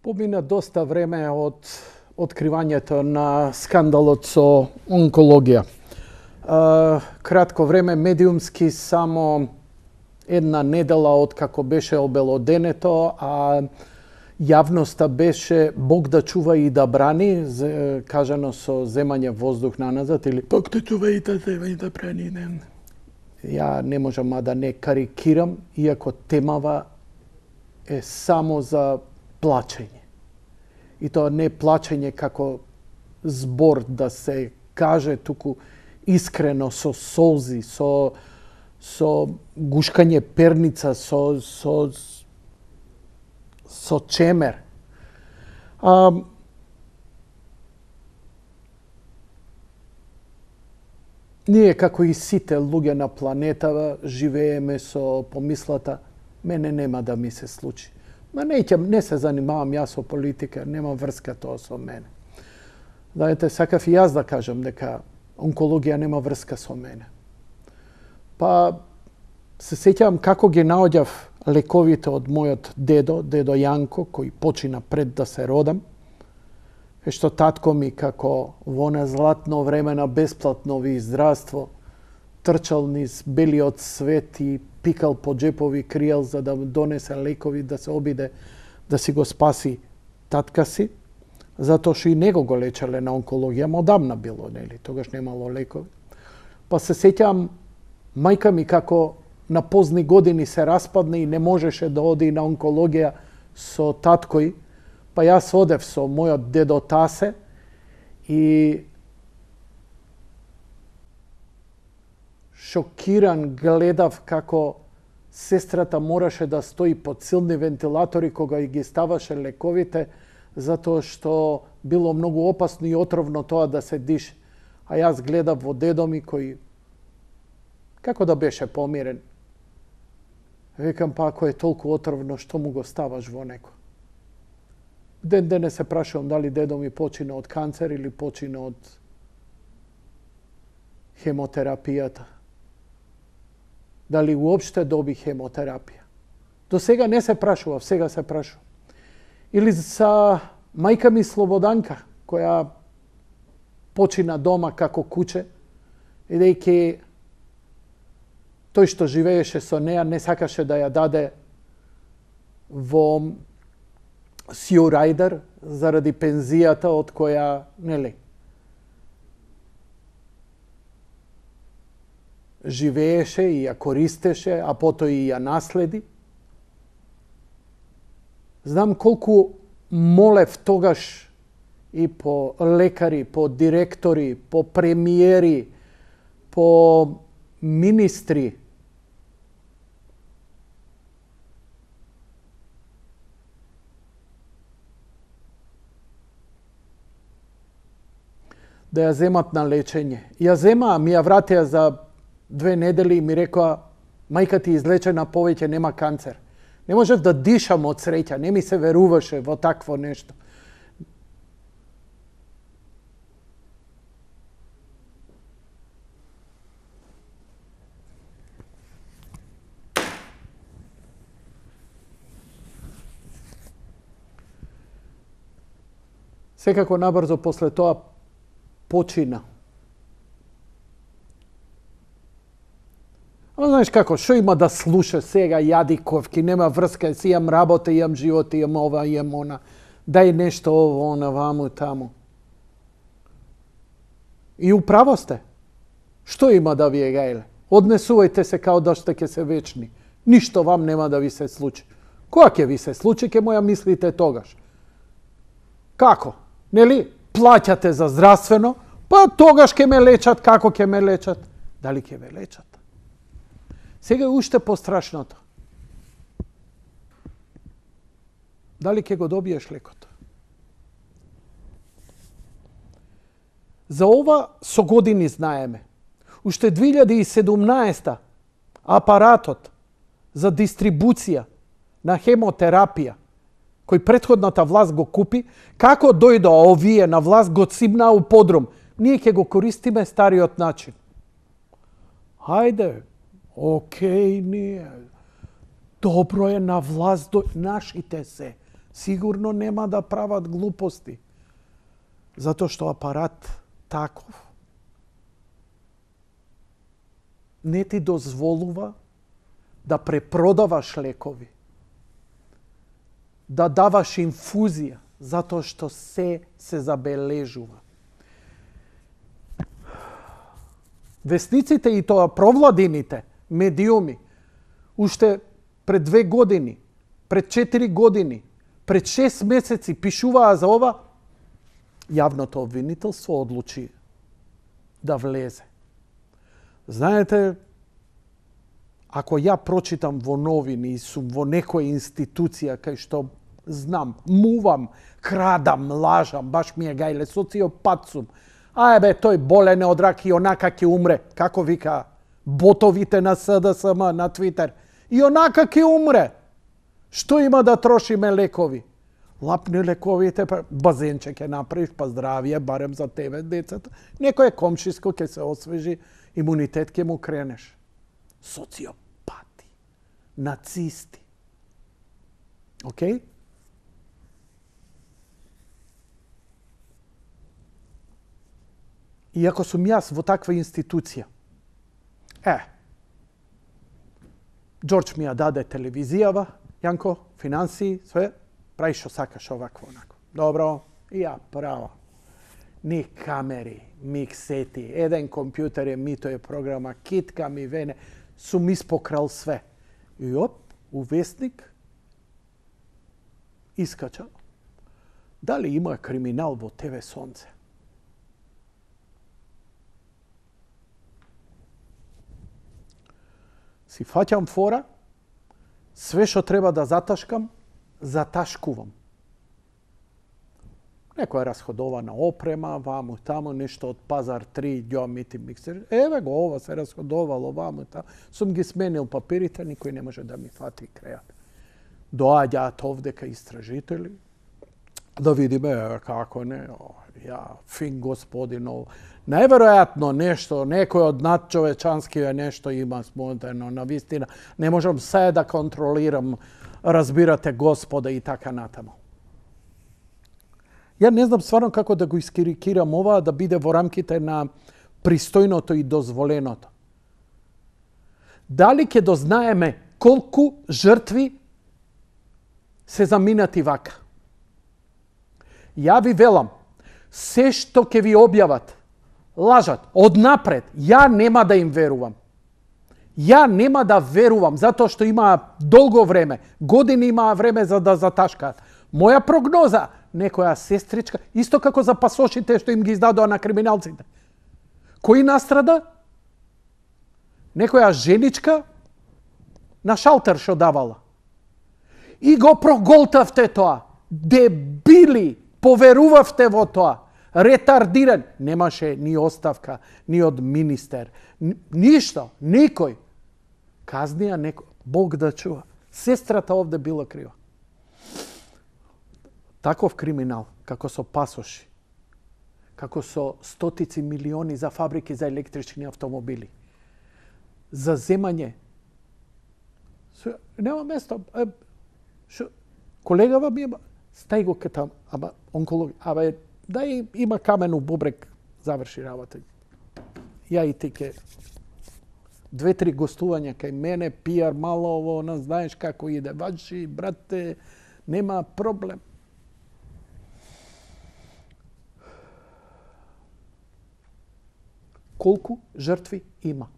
Помина доста време од откривањето на скандалот со онкологија. Кратко време, медиумски, само една недела од како беше обелоденето, а јавноста беше Бог да чува и да брани, кажано со земање воздух на назад, или Бог да чува и да зема и да брани. Ја не можам да не карикирам, иако темава е само за плачење. И тоа не плачење како збор да се каже, туку искрено, со солзи, со гушкање перница, со чемер. Ние, како и сите луѓе на планетава, живееме со помислата, мене нема да ми се случи. Ма не се занимавам јас со политика, нема врска тоа со мене. Знаете, сакав и јас да кажам дека онкологија нема врска со мене. Па се сеќавам како ги наоѓав лековите од мојот дедо Јанко, кој почина пред да се родам. Што татко ми, како во на златно време на бесплатно ви здравство, трчал низ белиот свет и пикал по джепови криел за да донесе лекови, да се обиде да си го спаси татка си, затоа што и него го лечеле на онкологија, одамна било, нели, тогаш немало лекови. Па се сеќавам мајка ми како на позни години се распадна и не можеше да оди на онкологија со таткој, па јас одев со мојот дедо Тасе и шокиран гледав како сестрата мораше да стои под силни вентилатори кога ги ставаше лековите, затоа што било многу опасно и отровно тоа да се дише. А јас гледав во дедо ми кој како да беше помирен. Викам, па ако е толку отровно, што му го ставаш во некој? Ден денес се прашувам дали дедо ми почина од канцер или почина од хемотерапијата. Дали уопште доби хемотерапија. До сега не се прашував, сега се прашувам. Или за мајка ми Слободанка, која почина дома како куче, бидејќи тој што живееше со неа не сакаше да ја даде во Сио Рајдер заради пензијата од која, нели, живееше и ја користеше, а потоа и ја наследи. Знам колку молев тогаш и по лекари, по директори, по премиери, по министри, да ја земат на лечење. Ја земаа, ми ја вратеа за 2 недели и ми рекоа, мајка ти излечена повеќе, нема канцер. Не можев да дишам од среќа, не ми се веруваше во такво нешто. Секако набрзо после тоа почина. А знаеш како, што има да слуша сега јадиковки, нема врска, си имам работа, имам живот, имам ова, имам она, дај нешто ово, она, ваму, таму. И управо сте. Што има да ви е гајле? Однесувајте се као да што ќе се вечни. Ништо вам нема да ви се случи. Која ќе ви се случи, ќе моја мислите тогаш. Како? Нели? Плаќате за здравствено, па тогаш ќе ме лечат, како ќе ме лечат? Дали ќе ме лечат? Сега е уште пострашното. Дали ќе го добиеш лекото? За ова со години знаеме. Уште 2017 апаратот за дистрибуција на хемотерапија, кој претходната власт го купи, како дојдоа овие на власт, го цимнаа у подрум. Ние ќе го користиме стариот начин. Хајде, окей, ние. Добро е на власт, нашите се. Сигурно нема да прават глупости. Затоа што апарат таков не ти дозволува да препродаваш лекови, да даваш инфузија, затоа што се забележува. Весниците и тоа провладините медиуми уште пред 2 години, пред 4 години, пред 6 месеци пишуваа за ова, јавното обвинителство одлучи да влезе. Знаете, ако ја прочитам во новини и сум во некоја институција кај што знам, мувам, крадам, лажам, баш ми е гајле, социопат сум. Тој болен е од рак и онака ќе умре. Како вика ботовите на СДСМ на Твитер. И онака ќе умре. Што има да трошиме лекови? Лапни лековите, базенче ќе направиш, па здравие, барем за тебе, децата. Некој комшиско ќе се освежи, имунитет ќе му кренеш. Социопати, нацисти. Океј? И ако сум јас во таква институција, Джордж ми ја даде телевизијава, Јанко, финансии, све, прави што сакаш овакво, онако. Добро, и ја право. Ни камери, миксети, еден компјутер е мито е програма, китка ми вене, сум испокрал све. И у вестник искача. Дали има криминал во ТВ Сонце? Си фаќам фора, све што треба да заташкам, заташкувам. Некоја расходована опрема, ваму таму, нешто од Пазар 3, ѓомити миксер. Еве го, ова се расходовало, ваму таму. Сум ги сменил папирите, никој не може да ми фати крајот. Доаѓаат овдека истражители, да видиме како не, фин господино. Најверојатно нешто, некој од надчовечанскиве нешто има смотено, на вистина. Не можам се да контролирам, разбирате, Господа и така натаму. Ја не знам стварно како да го искирикирам ова, да биде во рамките на пристојното и дозволеното. Дали ќе дознаеме колку жртви се заминати вака? Ја ви велам, се што ќе ви објават, лажат, однапред, ја нема да им верувам. Ја нема да верувам, затоа што имаа долго време, години имаа време за да заташкаат. Моја прогноза, некоја сестричка, исто како за пасошите што им ги издадоа на криминалците. Кој настрада? Некоја женичка на шалтер што давала. И го проголтавте тоа. Дебили, поверувавте во тоа. Ретардиран. Немаше ни оставка, ни од министер. Ништо, никој. Казнија некој. Бог да чува. Сестрата овде била крива. Таков криминал, како со пасоши, како со стотици милиони за фабрики за електрични автомобили, за земање. Нема место. Колегава ми стај го кај таму, онколог, дај има камен у бубрек, заврши работа. Ја и ти ке 2-3 гостувања кај мене, пијар мало ово, знаеш како иде. Ваджи, брате, нема проблем. Колку жртви има?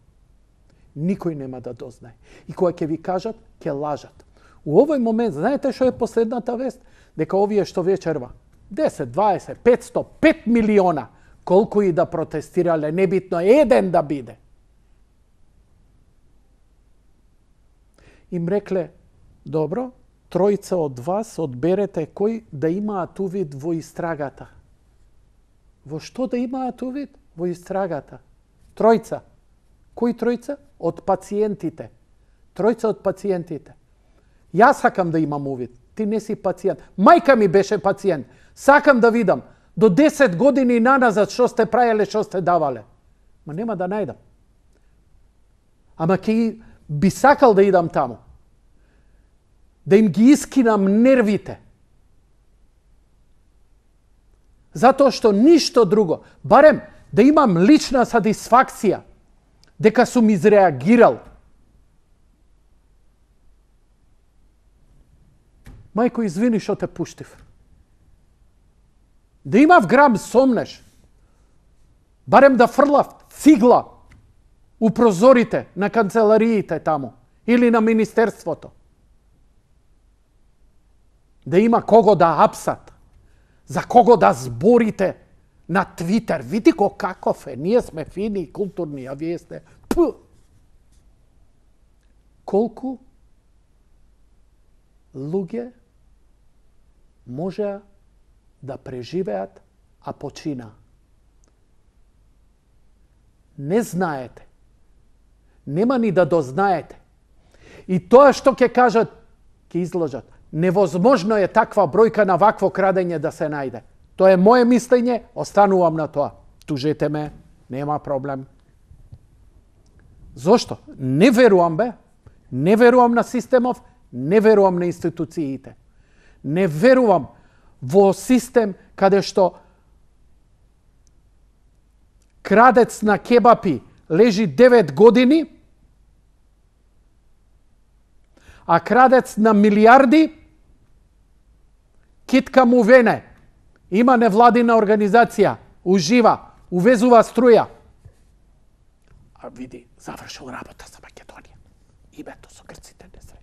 Никој нема да дознае. И кога ќе ви кажат, ќе лажат. У овој момент, знаете што е последната вест? Дека овие што вечерва, 10, 20, 500, 5 милиона, колку и да протестирале, небитно еден да биде. Им рекле, добро, тројца од вас одберете кој да имаат увид во истрагата. Во што да имаат увид? Во истрагата. Тројца. Кои тројца? Од пациентите. Тројца од пациентите. Јас сакам да имам увид. Ти не си пациент. Мајка ми беше пациент. Сакам да видам. До 10 години наназад што сте правеле, што сте давале. Ма нема да најдам. Ама ке би сакал да идам таму. Да им ги искинам нервите. Затоа што ништо друго, барем да имам лична сатисфакција, дека сум изреагирал. Мајко, извини што те пуштив. Да имав грам сомнеш, барем да фрлав цигла у прозорите на канцелариите таму или на министерството. Да има кого да апсат, за кого да зборите на Твитер. Види го каков е, ние сме фини и културни, а вие сте... Колку луѓе може да преживеат, а почина. Не знаете. Нема ни да дознаете. И тоа што ќе кажат, ќе изложат. Невозможно е таква бројка на вакво крадење да се најде. Тоа е моje мислење, останувам на тоа. Тужете ме, нема проблем. Зошто? Не верувам, бе. Не верувам на системов, не верувам на институциите. Не верувам во систем каде што крадец на кебапи лежи 9 години, а крадец на милиарди китка му вене. Има невладина организација, ужива, увезува струја. А види, завршил работа за Македонија. Името со грците не се.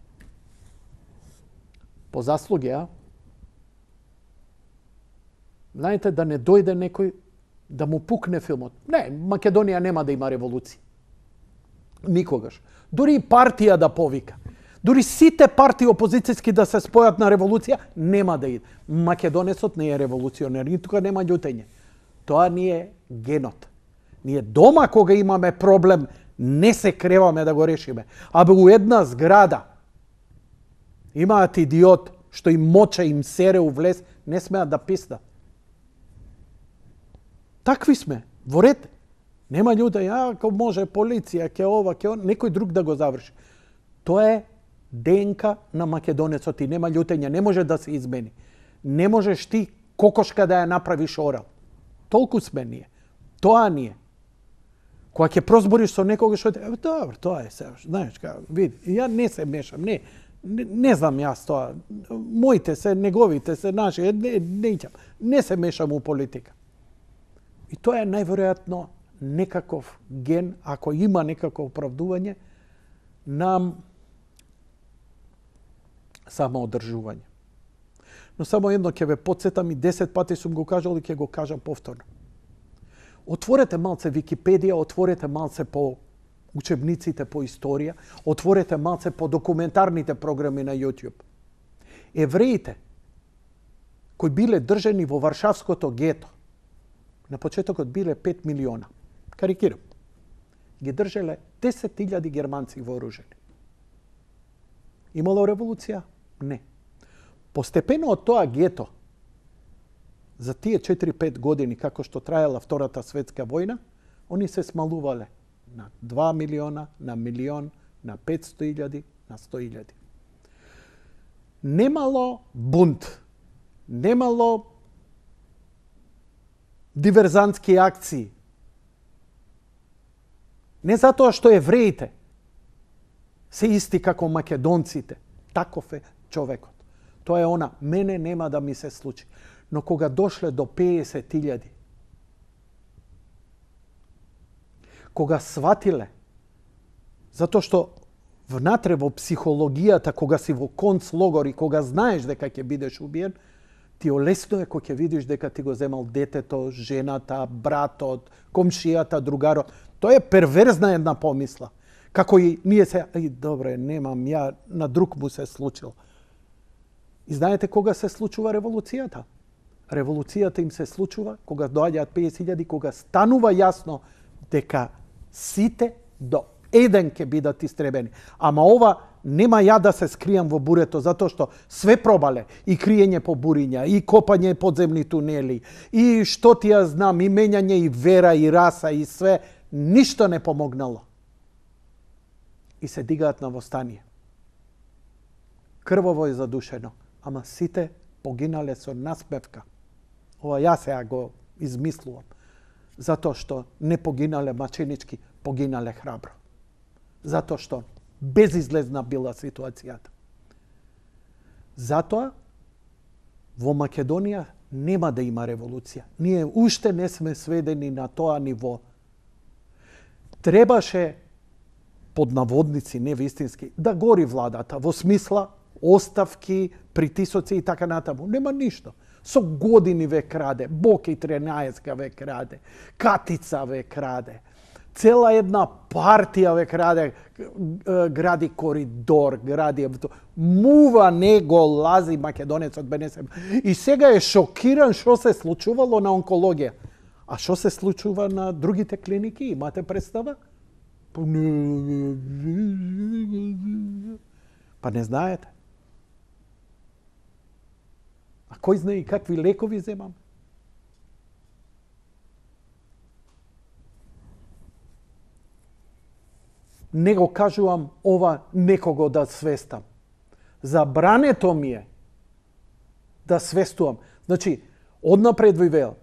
По заслуги, а? Знаете, да не дојде некој да му пукне филмот. Не, Македонија нема да има револуција. Никогаш. Дури и партија да повика. Дури сите партии опозицијски да се спојат на револуција, нема да иде. Македонецот не е револуционер, и тука нема љутење. Тоа ни е генот. Ние дома кога имаме проблем, не се креваме да го решиме. Абе у една зграда имаат идиот што им моча, им сере у влез, не смеат да писнат. Такви сме, во ред. Нема луѓе, ако може полиција, ке ова, ке он, некој друг да го заврши. Тоа е ДНК на македонецот и нема љутење, не може да се измени. Не можеш ти кокошка да ја направиш орал. Толку сме ние. Тоа ние. Кога ќе прозбориш со некого што добро, тоа е се, знаеш како, види, ја не се мешам, не знам јас тоа. Моите се, неговите се, наши, не се мешам у политика. И тоа е најверојатно некаков ген, ако има некакво оправдување, на самоодржување. Но само едно ќе ве потсетам и 10 пати сум го кажал и ќе го кажам повторно. Отворете малце Википедија, отворете малце по учебниците по историја, отворете малце по документарните програми на YouTube. Евреите кои биле држани во Варшавското гето, на почетокот биле 5 милиона. Карикирам. Ги држале 10.000 германци вооружени. Имало револуција? Не. Постепено од тоа гето, за тие 4-5 години, како што траела Втората светска војна, они се смалувале на 2 милиона, на милион, на 500.000, на 100.000. Немало бунт, немало диверзантски акции. Не затоа што евреите се исти како македонците. Таков е човекот. Тоа е она, мене нема да ми се случи. Но кога дошле до 50.000, кога сватиле, затоа што внатре во психологијата, кога си во концлогор и кога знаеш дека ќе бидеш убиен, ти олесно е кога ќе видиш дека ти го земал детето, жената, братот, комшијата, другарот. Тоа е перверзна една помисла. Како и ние се, добре, немам, ја на друг му се случил. И знаете кога се случува револуцијата? Револуцијата им се случува кога доаѓаат 50.000, кога станува јасно дека сите до еден ќе бидат истребени. Ама ова нема ја да се скријам во бурето, затоа што све пробале. И криење по буриња, и копање подземни тунели, и што ти ја знам, и менјање и вера, и раса, и све. Ништо не помогнало. И се дигаат на востание. Крваво и задушено. Ама сите погинале со насмевка. ова јас сега го измислувам, затоа што не погинале маченички, погинале храбро. Затоа што безизлезна била ситуацијата. Затоа во Македонија нема да има револуција. Ние уште не сме сведени на тоа ниво. Требаше, под наводници, не вистински, да гори владата, во смисла оставки, притисоци и така натаму. Нема ништо. Со години ве краде, Боки 13 ве краде, Катица ве краде, цела една партија ве краде, гради коридор, гради... Мува не го лази македонецот БНС. И сега е шокиран што се случувало на онкологија. А што се случува на другите клиники? Имате представа? Па не знаете. А кој знае какви лекови земам? Не го кажувам ова некого да свестам. Забрането ми е да свестувам. Значи, однапред ви велам,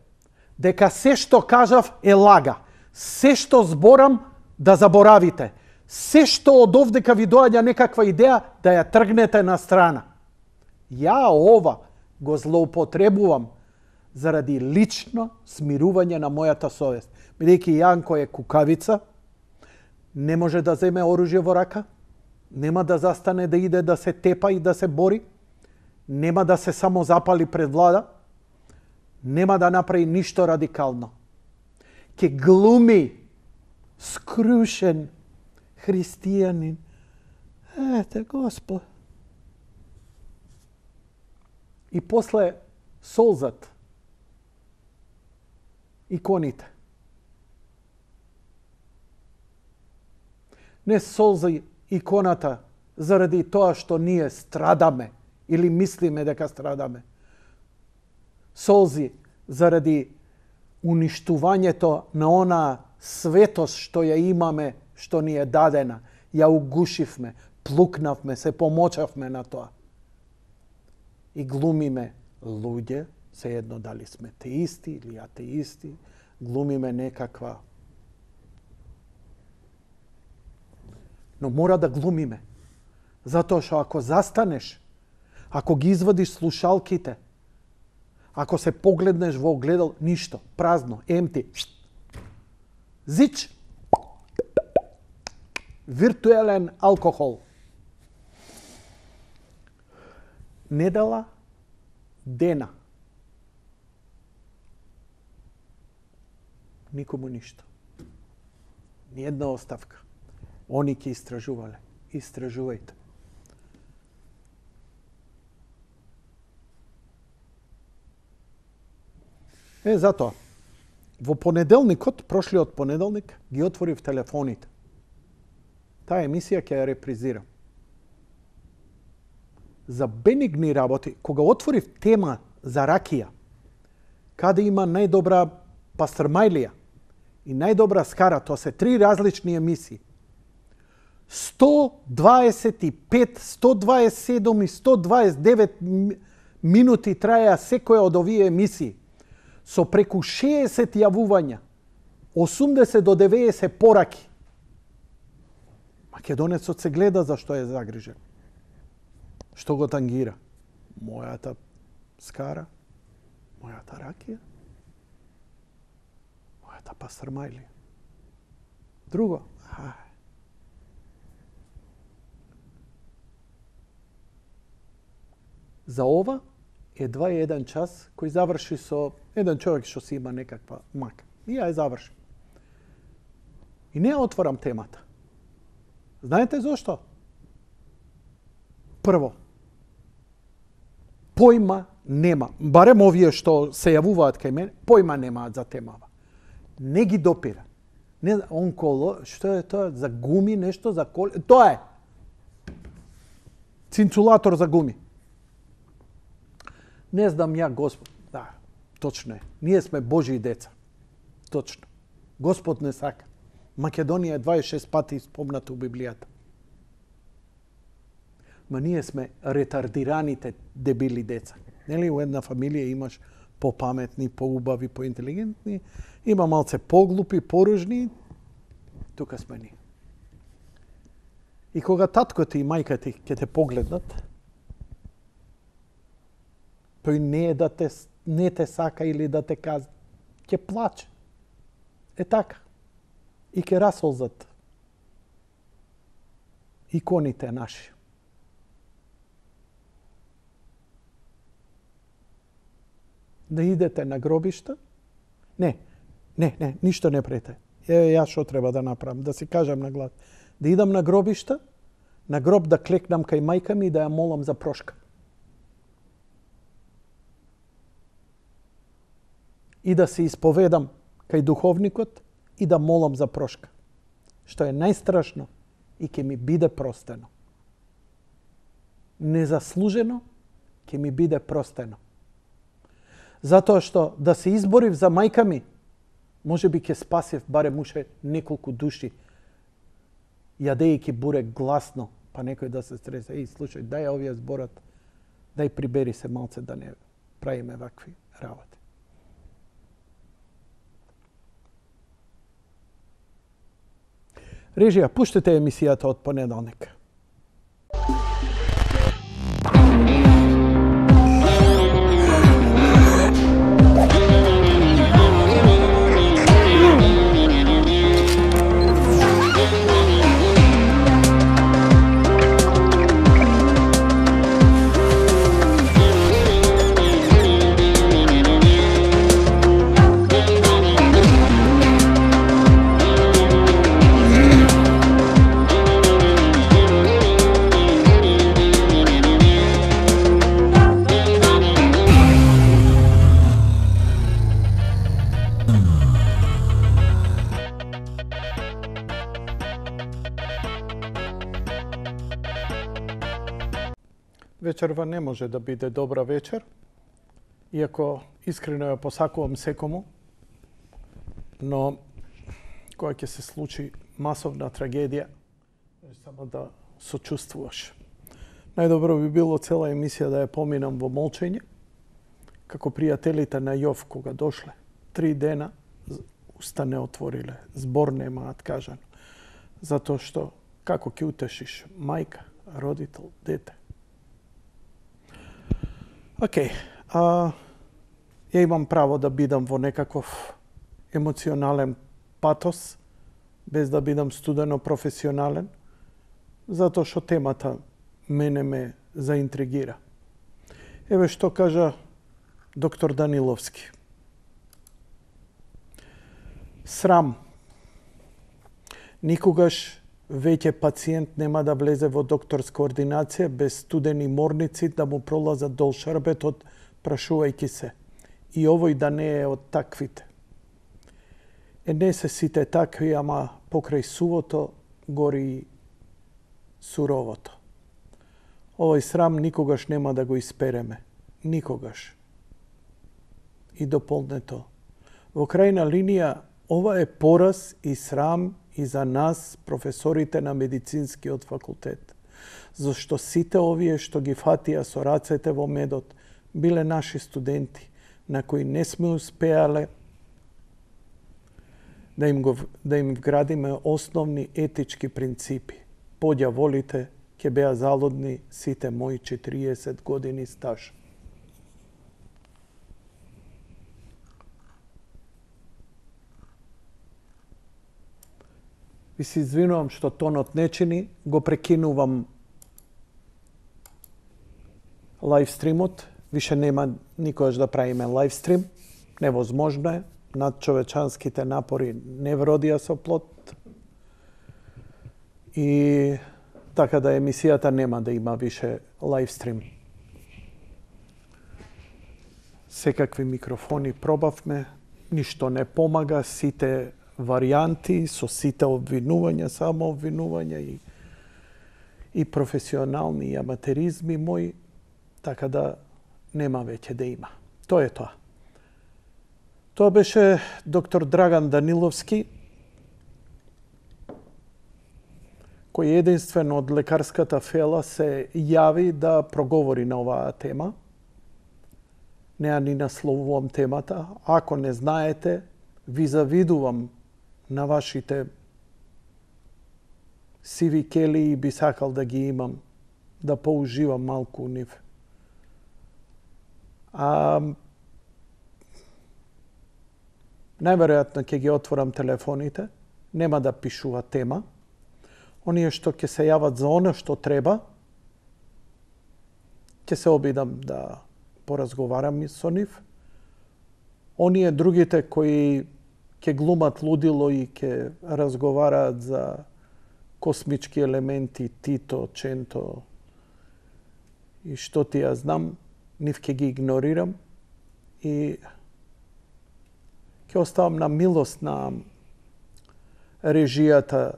дека се што кажав е лага. Се што зборам да заборавите. Се што од овдека ви доаѓа некаква идеја да ја тргнете на страна. Ја ова го злоупотребувам заради лично смирување на мојата совест. Бидејќи Јанко е кукавица, не може да земе оружје во рака, нема да застане да иде да се тепа и да се бори, нема да се само запали пред влада, нема да направи ништо радикално. Ке глуми скрушен христијанин. Ете, Господ. И после солзат, иконите. Не солзи иконата заради тоа што ние страдаме или мислиме дека страдаме. Солзи заради уништувањето на она светост што ја имаме, што ни е дадена. Ја угушивме, плукнавме, се помочавме на тоа. И глумиме луѓе, се едно дали сме теисти или атеисти, глумиме некаква. Но мора да глумиме. Затоа што ако застанеш, ако ги извадиш слушалките, ако се погледнеш во огледал, ништо, празно, емти. Зич. Виртуелен алкохол. Недела, дена. Никому ништо. Ни една оставка. Они ќе истражувале. Истражувајте. Затоа, во понеделникот, прошлиот понеделник, ги отворив телефоните. Таа емисија ќе ја репризирам. За бенигни работи, кога отворив тема за ракија, каде има најдобра пастрмајлија и најдобра скара, тоа се 3 различни емисии. 125, 127 и 129 минути траја секоја од овие емисии, со преку 60 јавувања, 80 до 90 пораки. Македонецот се гледа зашто е загрижен. Што го тангира? Мојата скара, мојата ракија, мојата пастрмајлија. Друго, за ова едва еден час кој заврши со еден човек што си има некаква мака. И ја заврши. И не отворам темата. Знаете зошто? Прво, појма нема. Барем овие што се јавуваат кај мене, појма немаат за темава. Не ги допира. Не, што е тоа? За гуми, нешто за коли? Тоа е. Цинцулатор за гуми. Не знам ја, Господ. Да, точно е. Ние сме Божии деца. Точно. Господ не сака. Македонија е 26 пати спомната у Библијата. Ма ние сме ретардираните дебили деца. Нели у една фамилија имаш попаметни, поубави, поинтелигентни, има малце поглупи, поружни, тука сме ни. И кога татко ти и мајка ти ќе те погледнат, тој не е да не те сака или да те каза, ќе плаче. Е така. И ќе расолзат иконите наши. Да идете на гробишта? Не, ништо не прете. Јас што треба да направам? Да си кажам на глас. Да идам на гробишта, на гроб да клекнам кај мајка ми и да ја молам за прошка. И да се исповедам кај духовникот и да молам за прошка. Што е најстрашно и ќе ми биде простено. Незаслужено ќе ми биде простено. Затоа што да се изборив за мајка ми, може би ќе спасив барем уште неколку души, јадејќи буре гласно, па некој да се стреса. Слушај, дај овие зборат, дај прибери се малце да не правиме вакви работи. Режија, пуштете емисијата од понеделник. Вечерва не може да биде добра вечер, иако искрено ја посакувам секому, но кога ќе се случи масовна трагедија, само да сочувствуваш. Најдобро би било цела емисија да ја поминам во молчење, како пријателите на Јов кога дошле. 3 дена уста не отвориле, збор немаат кажано. Затоа што како ќе утешиш мајка, родител, дете? Океј, ја имам право да бидам во некаков емоционален патос, без да бидам студено професионален, затоа што темата мене ме заинтригира. Еве што кажа доктор Даниловски. Срам. Никогаш веќе пациент нема да влезе во докторска ординација без студени морници да му пролазат дол шарбетот, прашувајќи се. И овој да не е од таквите. Не се сите такви, ама покрај сувото гори суровото. Овој срам никогаш нема да го испереме. Никогаш. И дополнето. Во крајна линија, ова е пораз и срам и за нас, професорите на медицинскиот факултет. Зашто сите овие што ги фатија со рацете во медот, биле наши студенти, на кои не сме успеале да им вградиме основни етички принципи. Подја волите, ќе беа залудни сите мои 40 години стаж. Ви се извинувам што тонот не чини, го прекинувам лайвстримот. Више нема никогаш да правиме лайвстрим. Невозможно е. Надчовечанските напори не вродија со плод. И така да емисијата нема да има више лайвстрим. Секакви микрофони пробавме, ништо не помага, сите варијанти, со сите обвинувања, само обвинувања и професионални и аматеризми мои, така да нема веќе да има. Тоа е тоа. Тоа беше доктор Драган Даниловски, кој единствено од лекарската фела се јави да проговори на оваа тема. Не ја ни насловувам темата. Ако не знаете, ви завидувам на вашите сиви кели и би сакал да ги имам, да поуживам малку у нив. Најверојатно ќе ги отворам телефоните, нема да пишува тема. Оние што ќе се јават за оно што треба, ќе се обидам да поразговарам со нив. Оние другите кои ќе глумат лудило и ќе разговараат за космички елементи, Тито, Ченто и што ти ја знам, нив ќе ги игнорирам и ќе оставам на милост на режијата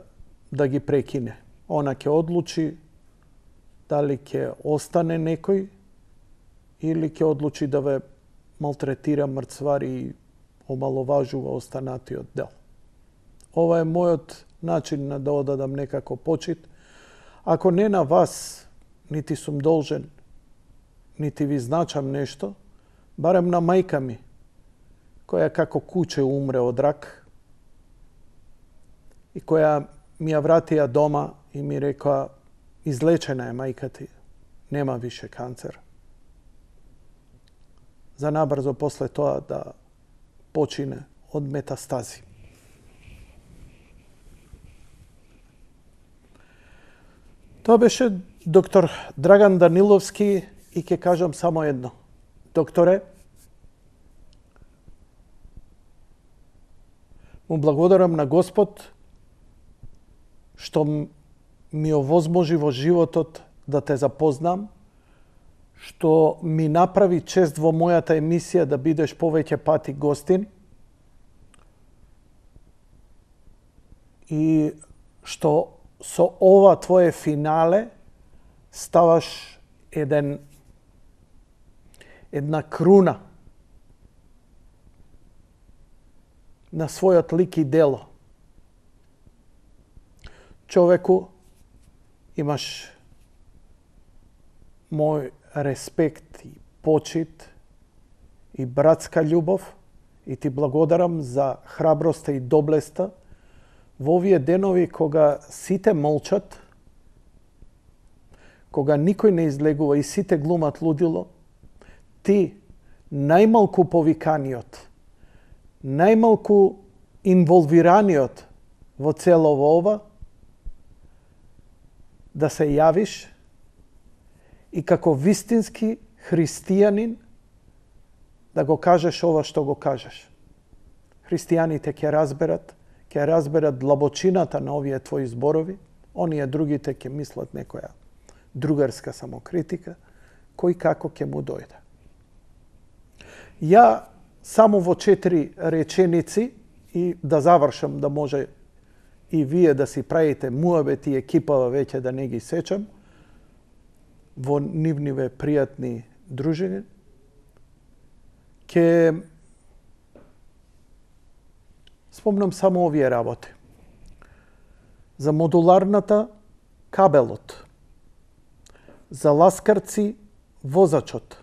да ги прекине. Она ќе одлучи дали ќе остане некој или ќе одлучи да ве малтретира, мрцвари и омаловажува останатиот дел. Ова е мојот начин на да одадам некако почит. Ако не на вас, нити сум должен, нити ви значам нешто, барем на мајка ми, која како куче умре од рак и која ми ја вратија дома и ми рекоа, излечена е мајка ти, нема више канцер. За набрзо после тоа да почине од метастази. Тоа беше доктор Драган Даниловски и ќе кажам само едно. Докторе, му благодарам на Господ што ми овозможи во животот да те запознам, што ми направи чест во мојата емисија да бидеш повеќе пати гостин и што со ова твое финале ставаш една круна на својот лик и дело. Човеку, имаш мој респект и почит и братска љубов и ти благодарам за храброста и доблеста во овие денови кога сите молчат, кога никој не излегува и сите глумат лудило, ти, најмалку повиканиот, најмалку инволвираниот во цело ова, да се јавиш и како вистински христијанин да го кажеш ова што го кажеш. Христијаните ќе разберат длабочината на овие твои зборови, оние другите ќе мислат некоја другарска самокритика, кој како ќе му дојде. Ја само во 4 реченици и да завршам, да може и вие да си правите муабет и екипава веќе да не ги сечам во нивниве пријатни дружини, ќе спомнам само овие работи. За модуларната кабелот, за ласкарци возачот,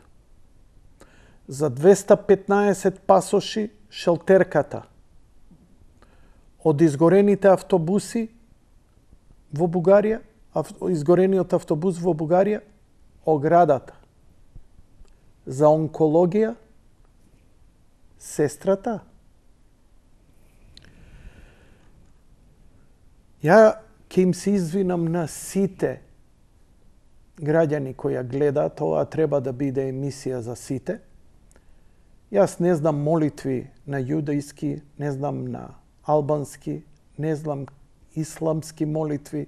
за 215 пасоши шелтерката, од изгорените автобуси во Бугарија, изгорениот автобус во Бугарија, оградата, за онкологија, сестрата. Ја ќе им се извинам на сите граѓани кои ја гледаат, ова треба да биде емисија за сите. Јас не знам молитви на јудајски, не знам на албански, не знам исламски молитви,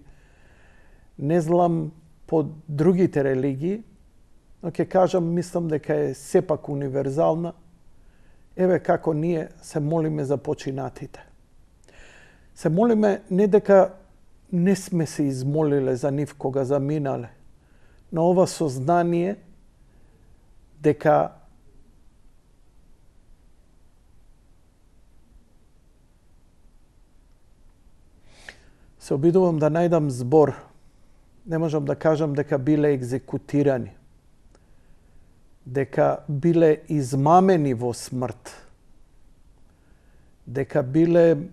не знам по другите религии, но ќе кажам, мислам дека е сепак универзална. Еве како ние се молиме за починатите. Се молиме не дека не сме се измолиле за нив кога заминале, но ова сознание дека се обидувам да најдам збор. Не можам да кажам дека биле екзекутирани. дека биле измамени во смрт, дека биле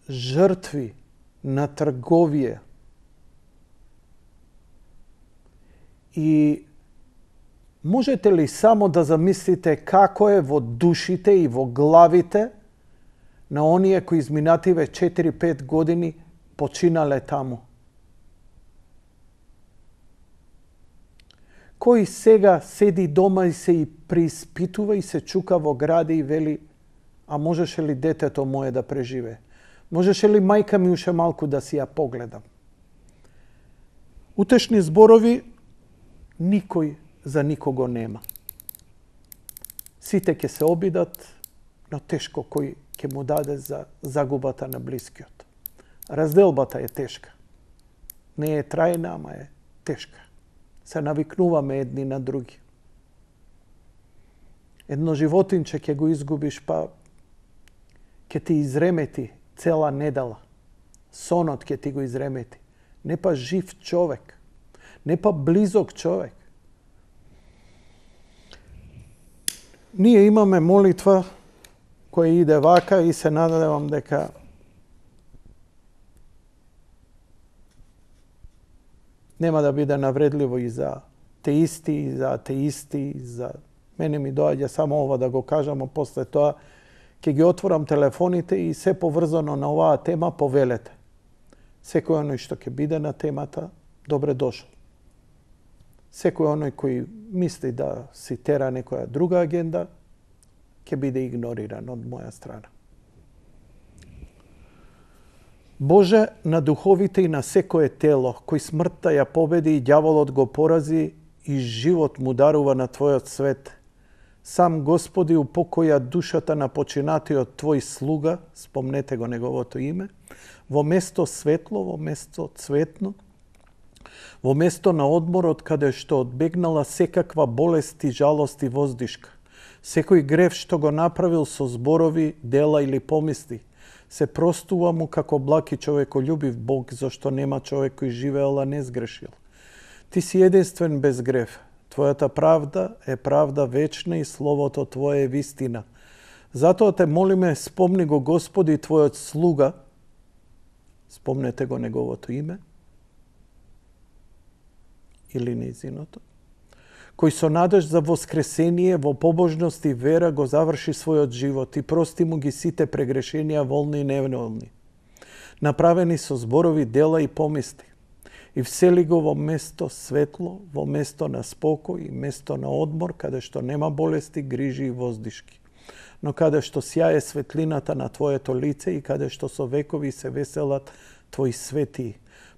жртви на трговија и можете ли само да замислите како е во душите и во главите на оние кои изминативе 4-5 години починале таму? Кој сега седи дома и се и преиспитува и се чука во гради и вели: а можеше ли детето мое да преживее? Можеше ли мајка ми уште малку да си ја погледам? Утешни зборови никој за никого нема. Сите ќе се обидат, но тешко кој ќе му даде за загубата на блискиот. Разделбата е тешка. Не е трајна, ама е тешка. Се навикнуваме едни на други. Едно животинче ќе го изгубиш, па ќе ти изремети цела недела. Сонот ќе ти го изремети. Не па жив човек. Не па близок човек. Ние имаме молитва која иде вака и се надевам дека нема да биде навредливо и за теисти, и за атеисти, и за мене ми доаѓа само ова да го кажам, а после тоа ќе ги отворам телефоните и се поврзано на оваа тема повелете. Секој оној што ќе биде на темата, добре дошол. Секој оној кој мисли да си тера некоја друга агенда, ќе биде игнориран од моја страна. Боже, на духовите и на секое тело, кој смртта ја победи и ѓаволот го порази и живот му дарува на Твојот свет, сам Господи упокоја душата на починатиот Твој слуга, спомнете го неговото име, во место светло, во место цветно, во место на одморот каде што одбегнала секаква болест и жалост и воздишка. Секој грев што го направил со зборови, дела или помисли, се простува му како благ и човеколюбив Бог, зашто нема човек кој живеел, а не сгрешил. Ти си единствен без грев. Твојата правда е правда вечна и словото Твое е вистина. Затоа те молиме, спомни го Господи Твојот слуга, спомнете го неговото име, или нејзиното, кој со надеж за воскресение во побожност и вера го заврши својот живот и прости му ги сите прегрешенија волни и неволни, направени со зборови, дела и помисли, и всели го во место светло, во место на спокој и место на одмор, каде што нема болести, грижи и воздишки, но каде што сјае светлината на Твоето лице и каде што со векови се веселат Твои светии.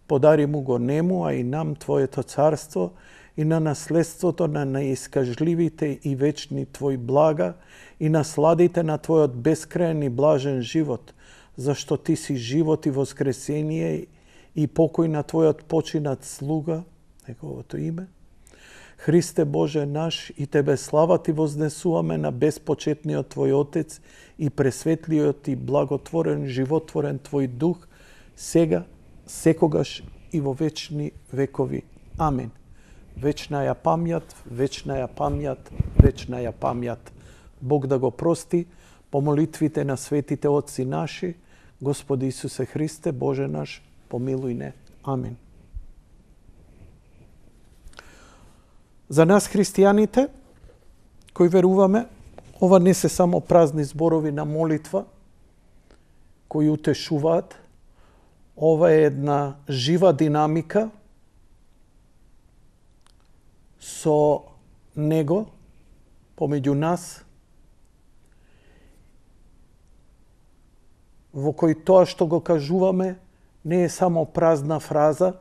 Подари му го нему, а и нам Твоето царство и на наследството на неискажливите и вечни Твои блага и насладите на Твојот бескрајен и блажен живот, зашто Ти си живот и воскресение и покој на Твојот починат слуга, неговото име. Христе Боже наш, и Тебе слава Ти вознесуваме на безпочетниот Твој Отец и пресветлиот и благотворен, животворен Твој Дух, сега, секогаш и во вечни векови. Амин. Вечна ја памјат, вечна ја памјат, вечна ја памјат. Бог да го прости по молитвите на светите отци наши, Господи Исусе Христе, Боже наш, помилуј не. Амин. За нас христијаните, кои веруваме, ова не се само празни зборови на молитва, кои утешуваат. Ова е една жива динамика со Него, помеѓу нас, во кој тоа што го кажуваме не е само празна фраза,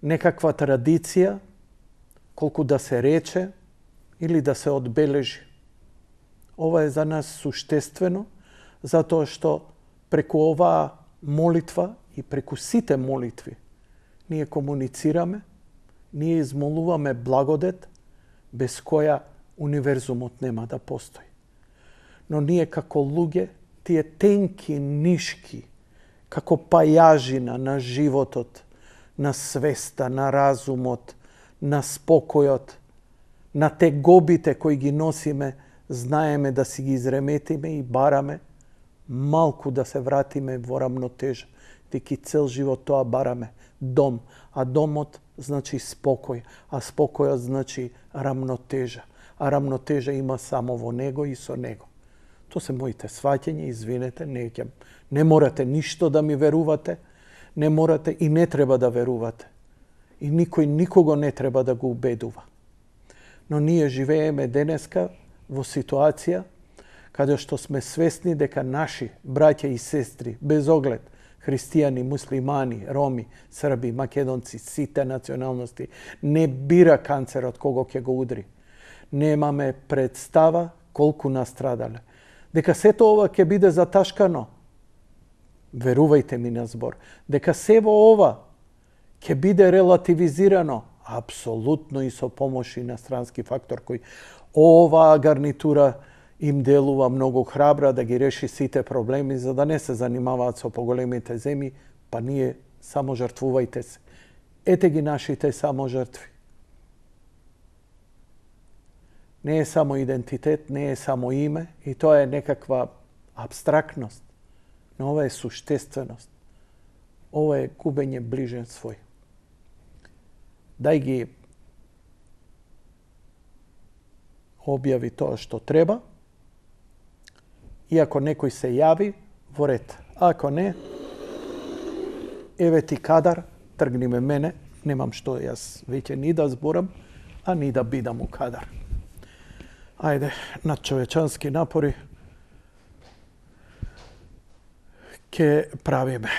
некаква традиција, колку да се рече или да се одбележи. Ова е за нас суштествено, затоа што преку оваа молитва и преку сите молитви ние комуницираме, ние измолуваме благодет без која универзумот нема да постои. Но ние како луѓе, тие тенки нишки, како пајажина на животот, на свеста, на разумот, на спокојот, на тегобите кои ги носиме, знаеме да си ги изреметиме и бараме малку да се вратиме во рамнотежа. Деки цел живот тоа бараме. Дом. А домот значи спокој. А спокојот значи рамнотежа. А рамнотежа има само во него и со него. Тоа се моите сваќања, извинете, не морате ништо да ми верувате, не морате и не треба да верувате. И никој никого не треба да го убедува. Но ние живееме денеска во ситуација каде што сме свесни дека наши браќа и сестри, без оглед христијани, муслимани, роми, срби, македонци, сите националности, не бира канцерот кого ќе го удри. Немаме представа колку настрадале. Дека сето ова ќе биде заташкано. Верувајте ми на збор. Дека се во ова ќе биде релативизирано. Апсолутно и со помош инострански фактор кој оваа гарнитура им делува многу храбра да ги реши сите проблеми за да не се занимаваат со поголемите земји, па ние само жртвувајте се. Ете ги нашите само жртви. Не е само идентитет, не е само име и тоа е некаква абстрактност, но ова е суштественост. Ова е губење ближен свој. Дај ги објави тоа што треба и ако некој се јави, во ред. Ако не, еве ти кадар, тргни ме мене, немам што јас веќе ни да зборам, а ни да бидам у кадар. Ајде, надчовечански напори ќе правиме.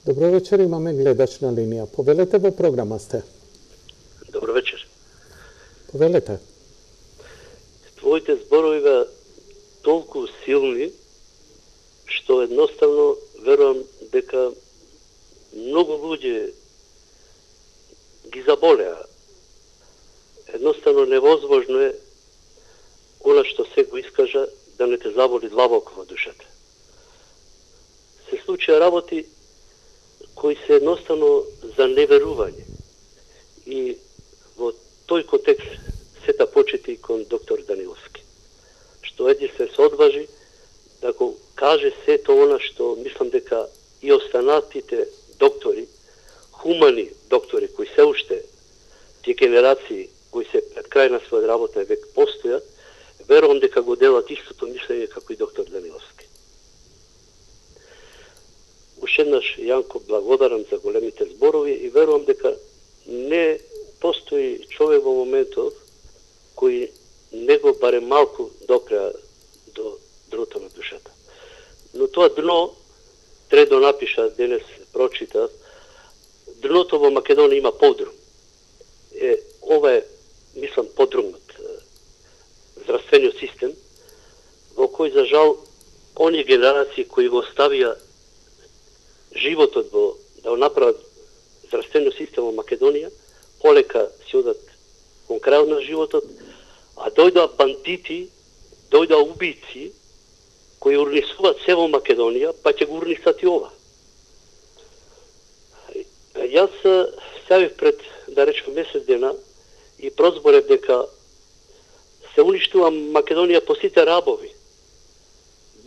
Добро вечер, имаме гледач на линија. Повелете, во програма сте. Добро вечер. Повелете. Твоите зборови беа толку силни, што едноставно верувам дека многу луѓе ги заболеа. Едноставно невозможно е она што се го искажа да не те заболи длабоко во душата. Се случија работи кои се едноставно за неверување. И во тој контекст сета почети и кон доктор Даниловски, што единствен се одважи да го каже сето она што мислам дека и останатите доктори, хумани доктори кои се уште тие генерации кои се пред крај на својот работен век постојат, верувам дека го делат истото мислење како и доктор Даниловски. Уште еднаш, Јанко, благодарам за големите зборови и верувам дека не постои човек во моментов кој не го баре малку допреа до дното на душата. Но тоа дно, треба да напиша, денес прочитав, дното во Македонија има подрум. Ова е, мислам, подрумот здравствениот систем, во кој, за жал, оние генерации кои го оставија животот да го направат здравствениот систем во Македонија, полека си одат кон крајот на животот, а дојдоа бандити, дојдоа убици, кои урнисуваат се во Македонија, па ќе го урнисат и ова. Јас ставив пред, да речем, месец дена и прозборев дека се уништува Македонија по сите рабови.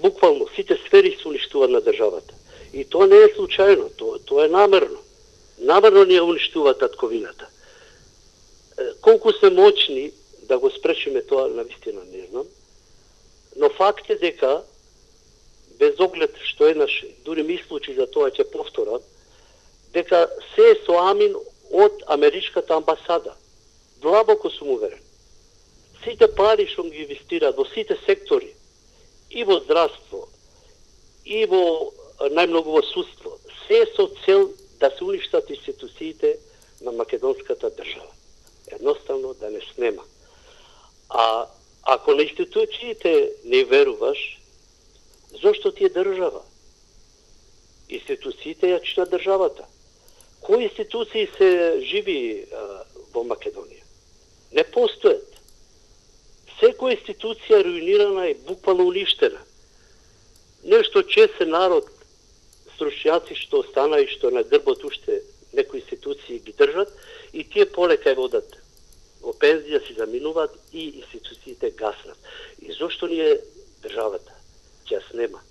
Буквално, сите сфери се уништуваат на државата. И тоа не е случајно, тоа е намерно. Намерно ни ја уништува татковината. Колку сме моćни да го спречиме тоа, навистина не знам, но факт е дека, без оглед што еднаш, дури ми случи за тоа ќе повторам, дека се е со амин од Америчката амбасада. Длабоко сум уверен. Сите пари што ги инвестираат во сите сектори, и во здравство, и во најмногу во судство, се со цел да се уништат институциите на македонската држава. Едноставно да не снема. А ако на институциите не веруваш, зошто ти е држава? Институциите ја чина државата. Кои институции се живи во Македонија? Не постојат. Секоја институција руинирана и буквално уништена. Нешто чесен народ, стручњаци што остана и што на грбот уште некои институции ги држат, и тие полека ја водат во пензија, си заминуваат и институциите гаснат. И зошто ни е државата? Ќе снема.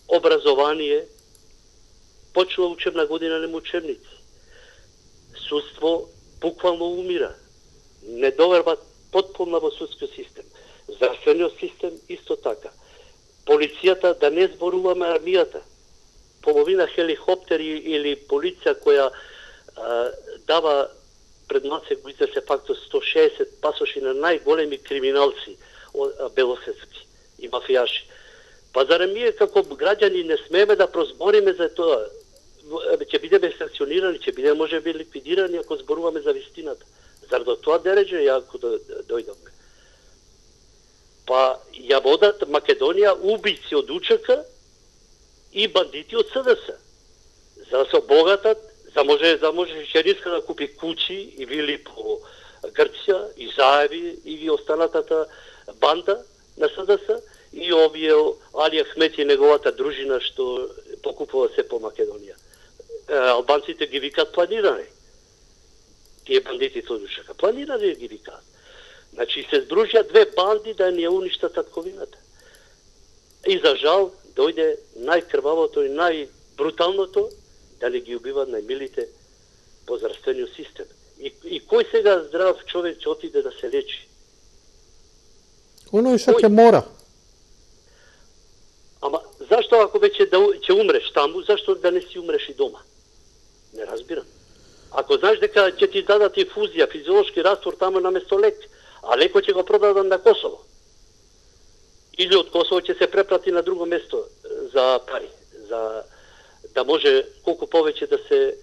Образование, почнува учебна година, нема учебници. Судство буквално умира. Не доверба потполна во судскиот систем. Здравствениот систем исто така. Полицијата, да не зборуваме армијата. Половина хеликоптери или полиција која дава пред НАЦЕК го издаде факто 160 пасоши на најголеми криминалци белосветски и мафијаши. Па зарем ние како граѓани не смееме да прозбориме за тоа? Ќе бидеме санкционирани, ќе бидеме можеби ликвидирани ако зборуваме за вистината. Зар до тоа дереже ако дојдовме? Па ја водат Македонија убици од УЧК и бандити од СДС. За да се обогатат, за може Шериска да купи куќи и вили по Грција, и Заеви, и ви останатата банда на СДС, и овие Али Ахмет и неговата дружина што покупува се по Македонија. Албанците ги викаат планирани. Тие бандитите од УЧК планирани ги викаат. Значи се здружија две банди да ни ја уништат татковината. И за жал дојде најкрвавото и најбруталното да не ги убиват најмилите по здравствениот систем. И кој сега здрав човек ќе отиде да се лечи? Оно што ќе мора. Ама зашто ако веќе ќе умреш таму, зашто да не си умреш и дома? Не разбирам. Ако знаеш дека ќе ти дадат инфузија, физиолошки раствор таму наместо лек, а лекот ќе го продадат на Косово. Или од Косово ќе се препрати на друго место за пари, за да може колку повеќе да се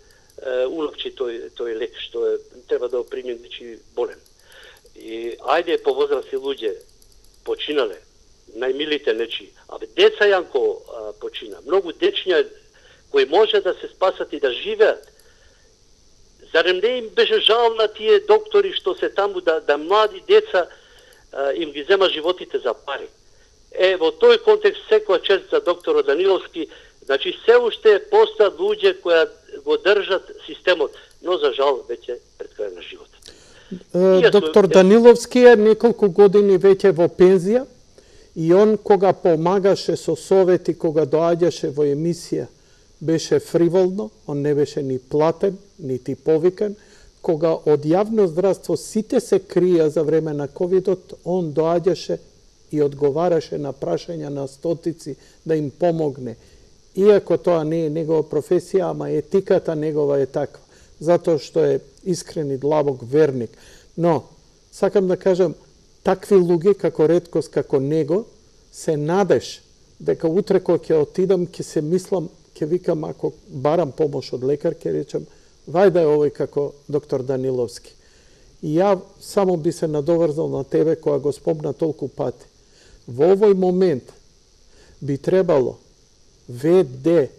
уловчи тој лек што треба да го приме нечи болен. И ајде по возрастни луѓе починале, најмилите нечи, деца Јанко почина, многу дечиња кои може да се спасат и да живеат. Зарем не им беше жал на тие доктори што се таму да млади деца им ги зема животите за пари. Во тој контекст секоја чест за доктор Даниловски, значи се уште постојат луѓе кои го држат системот, но за жал веќе пред крај на животот. Доктор Даниловски е неколку години веќе во пензија и он кога помагаше со совети, кога доаѓаше во емисија, беше фриволно, он не беше ни платен, нити повикан. кога од јавно здравство сите се крија за време на ковидот, он доаѓаше и одговараше на прашања на стотици да им помогне. Иако тоа не е негова професија, ама етиката негова е таква, затоа што е искрен и длабок верник. Но, сакам да кажам, такви луѓе како реткост, како него, се надеш дека утре кога ќе отидам, ќе се мислам, ќе викам, ако барам помош од лекар, ќе речам, вајда е овој како доктор Даниловски. И ја само би се надоврзал на тебе, која го спомна толку пати. Во овој момент би требало ВД,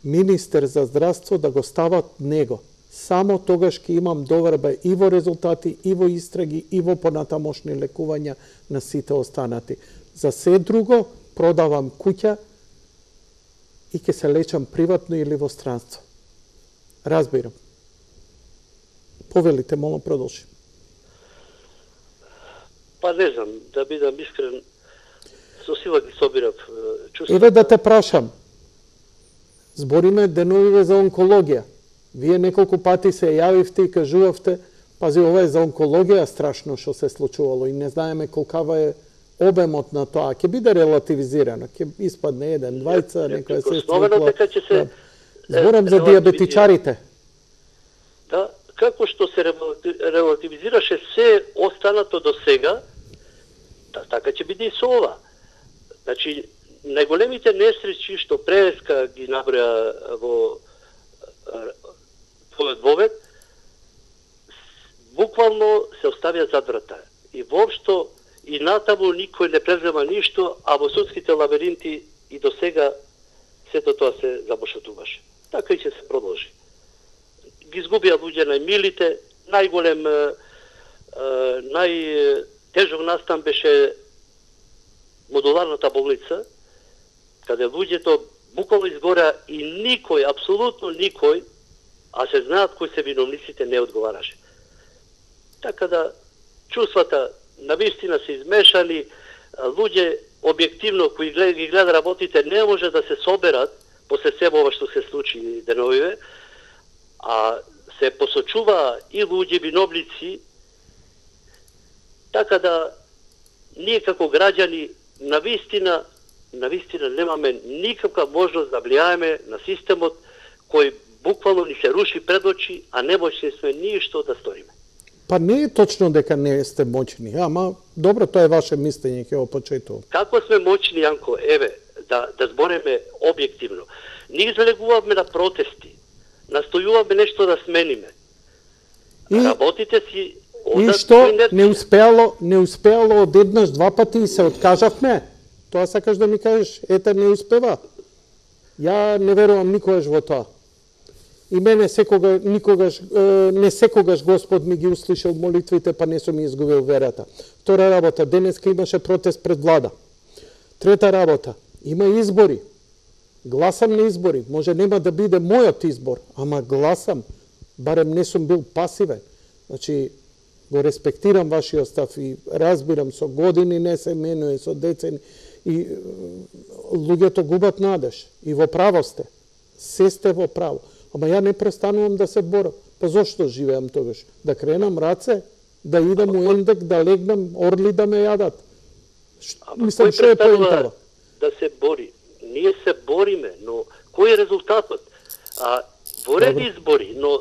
министер за здравство, да го стават него. Само тогаш ќе имам доверба и во резултати, и во истраги, и во понатамошни лекувања на сите останати. За се друго, продавам куќа и ќе се лечам приватно или во странство. Разбирам. Повелите, молам, продолжи. Па не знам, да бидам искрен, со сила ги собирав чувствата. Еве да те прашам. Збориме деновиве за онкологија. Вие неколку пати се јавивте и кажувавте, пази, ова е за онкологија страшно што се случувало и не знаеме колкава е обемот на тоа. Ќе биде релативизирано, ќе испадне еден, двајца, некоја се Зборам за диабетичарите. Да, како што се релативизираше се останато до сега, така ќе биде и со ова. Значи, најголемите несреќи што преска ги наброја во твојот вовед, буквално се оставија зад врата. И воопшто и натаму никој не презема ништо, а во судските лабиринти и до сега сето тоа се забошотуваше. Така и ќе се продолжи. Ги изгубија луѓе најмилите, најголем, најтежок настан беше модуларната болница, каде луѓето буквално изгореа и никој, апсолутно никој, а се знаат кои се виновниците, не одговараше. Така да, чувствата навистина се измешани, луѓе објективно кои ги гледа работите не може да се соберат после се ова што се случи деновиве, а се посочува и луѓе виновници, така да ние како граѓани навистина немаме никаква можност да влијаеме на системот кој буквално ни се руши пред очи, а не можни сме ништо да сториме. Па не е точно дека не сте моćни, ама добро, тоа е ваше мислење, ќе го почитувам. Како сме моćни, Јанко, еве, да збореме објективно. Ние залегуваме на протести, настојуваме нешто да смениме. Работите си... И што не успеало одеднаш два пати и се откажавме? Тоа сакаш да ми кажеш, ета не успева. Ја не верувам никогаш во тоа. И мене не секогаш Господ ми ги услишал молитвите, па не сум ми изгубил верата. Втора работа, денеска имаше протест пред влада. Трета работа, има избори. Гласам на избори. Може нема да биде мојот избор, ама гласам. Барем не сум бил пасивен. Значи, го респектирам вашиот став и разбирам, со години не се менуе, со децени. И луѓето губат надеж. И во право сте. Се сте во право. Ама ја не престанувам да се борам. Па зошто живеам тогаш? Да кренам раце? Да идам у ендек, да легнам, орли да ме јадат? Мислам, што е поентава? Да се бори. Ние се бориме, но кој е резултатот? Во ред избори, но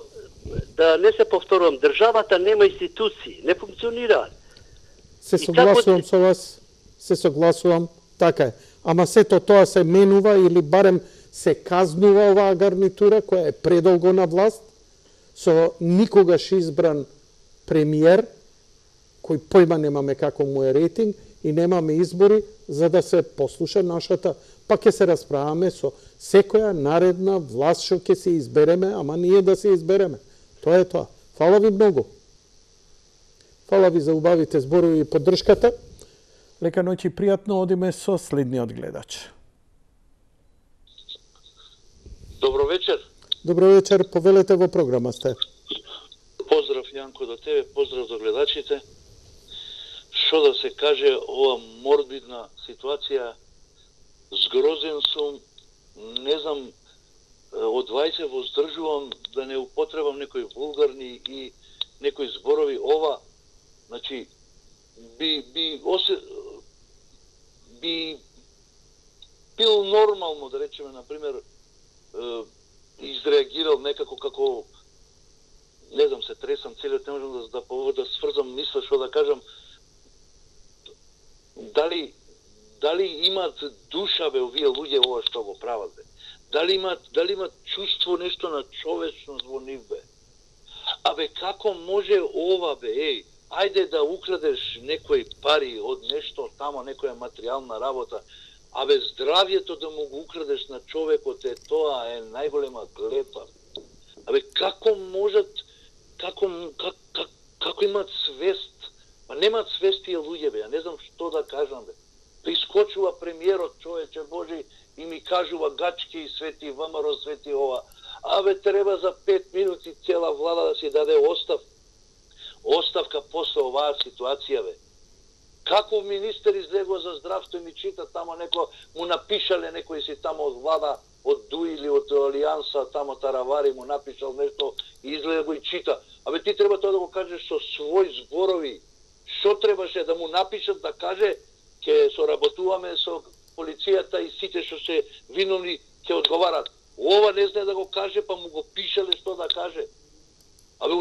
да не се повторувам, државата нема институции, не функционираат. Се согласувам со вас, се согласувам, така е. Ама сето тоа се менува или барем се казнува оваа гарнитура која е предолго на власт, со никогаш избран премиер, кој појма немаме како му е рейтинг, и немаме избори за да се послуша нашата, па ќе се расправаме со секоја наредна власт што ќе се избереме, ама ние да се избереме. Тоа е тоа. Фала ви многу. Фала ви за убавите зборови и поддршката. Лека ноќ и пријатно, одиме со следниот гледач. Добро вечер. Добро вечер, повелете во програма сте. Поздрав, Јанко, до тебе, поздрав до гледачите. Што да се каже, ова морбидна ситуација, згрозен сум, не знам од вас се воздржувам да не употребам некои вулгарни и некои зборови. Ова, значи, би бил нормално, да речеме, например, изреагирал некако како, не знам, се тресам целиот, не можам да сврзам мисла, што да кажам, дали имат душа, бе, овие луѓе, ова што го прават, бе? Дали имат чувство, нешто на човечност во нив, бе? Абе, како може ова, бе, ајде да украдеш некои пари од нешто тамо, некоја материјална работа, абе, здравјето да му го украдеш на човекот, тоа е најголема клепа. Абе, како можат, како имат свест? Па немат свест тие луѓе, бе, ја не знам што да кажам, бе. Прискочува премиерот, човече Божи, и ми кажува гачки и свети ВМРО, свети ова. Абе, треба за 5 минути цела влада да си даде оставка после оваа ситуација, бе. Како министер излегува за здравство и ми чита тамо неко, му напишале некои си тамо од влада, од ДУИ или од Алијанса, тамо Таравари му напишал нешто и излега го и чита. Абе, ти треба тоа да го кажеш со своји зборови. Што требаше да му напишат да каже ќе соработуваме со полицијата и сите што се виновни ќе одговарат. Ова не знае да го каже, па му го пишале што да каже. Абе,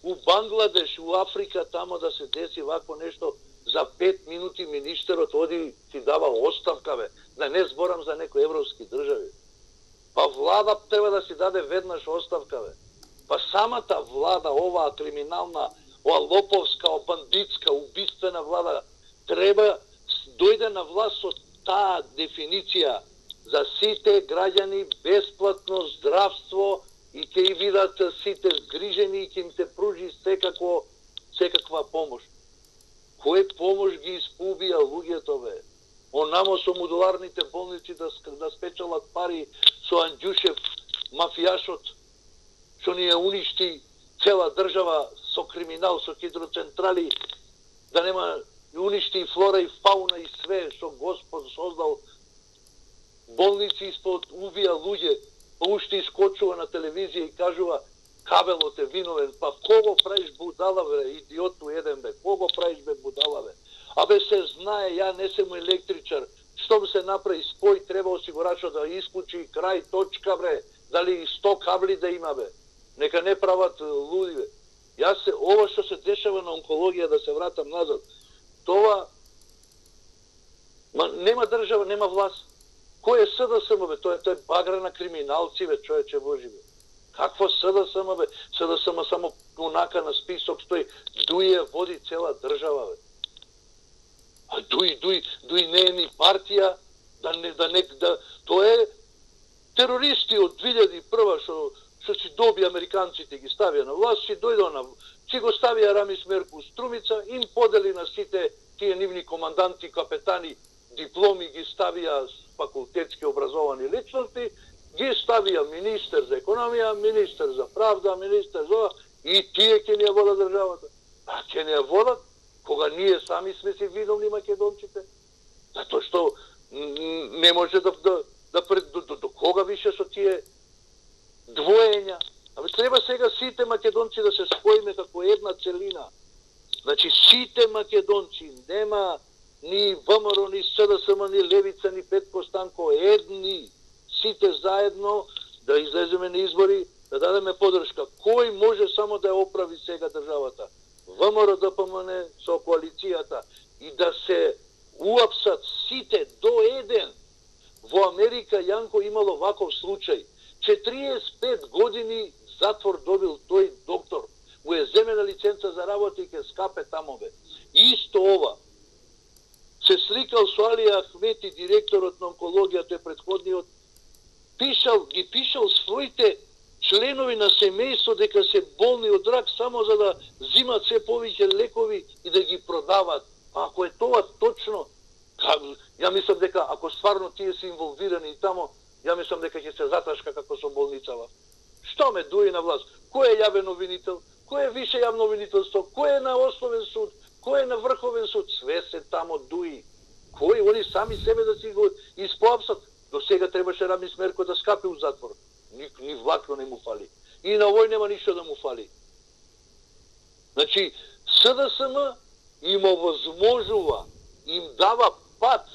у Бангладеш, у Африка, тамо да се деси вакво нешто, за 5 минути министерот оди ти дава оставка, бе. Да не зборам за некои европски држави. Па влада треба да си даде веднаш оставка, бе. Па самата влада, оваа криминална, ова лоповска, бандитска, убиствена влада, треба дојде на власт со таа дефиниција за сите граѓани бесплатно здравство и ќе и видат сите згрижени и ќе им се пружи секаква помош. Кој помош ги испубија луѓето, бе? Онамо со модуларните болници да спечалат пари со Анđушев, мафијашот, што ни ја уништи цела држава со криминал, со хидроцентрали, да нема уништи и флора и фауна и све што Господ создал, болници испод убија луѓе, па уште искочува на телевизија и кажува кабелот е виновен, па кого правиш будала, бе, идиоту еден, бе, кого правиш, бе, будала, бе? Абе, се знае, ја не сум електричар, што се направи спој, треба осигурачот да исклучи крај, точка, бре, дали 100 кабли да има, бе, нека не прават луди, бе. Ова што се дешава на онкологија, да се вратам назад, тоа, нема држава, нема власт. Кој е СДСМ, бе? Тоа е багра на криминалци, бе, човече Божи, бе. Какво СДСМ, бе? СДСМ само онака на список стои. ДУИ води цела држава, бе. А ДУИ не е ни партија, тоа е терористи од 2001 што си доби американците ги ставија на власт, си го ставија Рамис Мерку Струмица, им подели на сите тие нивни команданти, капетани, дипломи ги ставија факултетски образовани личности, ги ставија министер за економија, министер за правда, министер за... и тие ќе ни ја водат државата. А ќе ни ја водат кога ние сами сме си виновни македонците. Затоа што не може до кога више со тие двоења. Абе, треба сега сите македонци да се споиме како една целина. Значи, сите македонци, нема ни ВМРО, ни СДСМ, ни Левица, ни Петко Станко, едни, сите заедно да излеземе на избори, да дадеме подршка. Кој може само да ја оправи сега државата? ВМРО, ДПМН со коалицијата и да се уапсат сите до еден. Во Америка Јанко имало ваков случај. 45 години затвор добил тој доктор. Му е земена лиценца за работа и ке скапе тамо, бе. Исто ова. Се сликал со Али Ахмети, директорот на онкологија, тој претходниот, ги пишал своите членови на семејство дека се болни од рак само за да зимат се повеќе лекови и да ги продават. А ако е тоа точно, ја мислам дека ако стварно тие се инволвирани тамо, ја мислам дека ќе се заташка како со болницава. Што ме дуи на власт? Кој е јавен обвинител? Кој е више јавно обвинителство? Кој е на основен суд? Кој е на врховен суд? Све се тамо дуи. Кој? Они сами себе да си го испоапсат. До сега требаше Рамис Мерко да скапи у затвор. на овој нема ништо да му фали. Значи, СДСМ им овозможува, им дава пат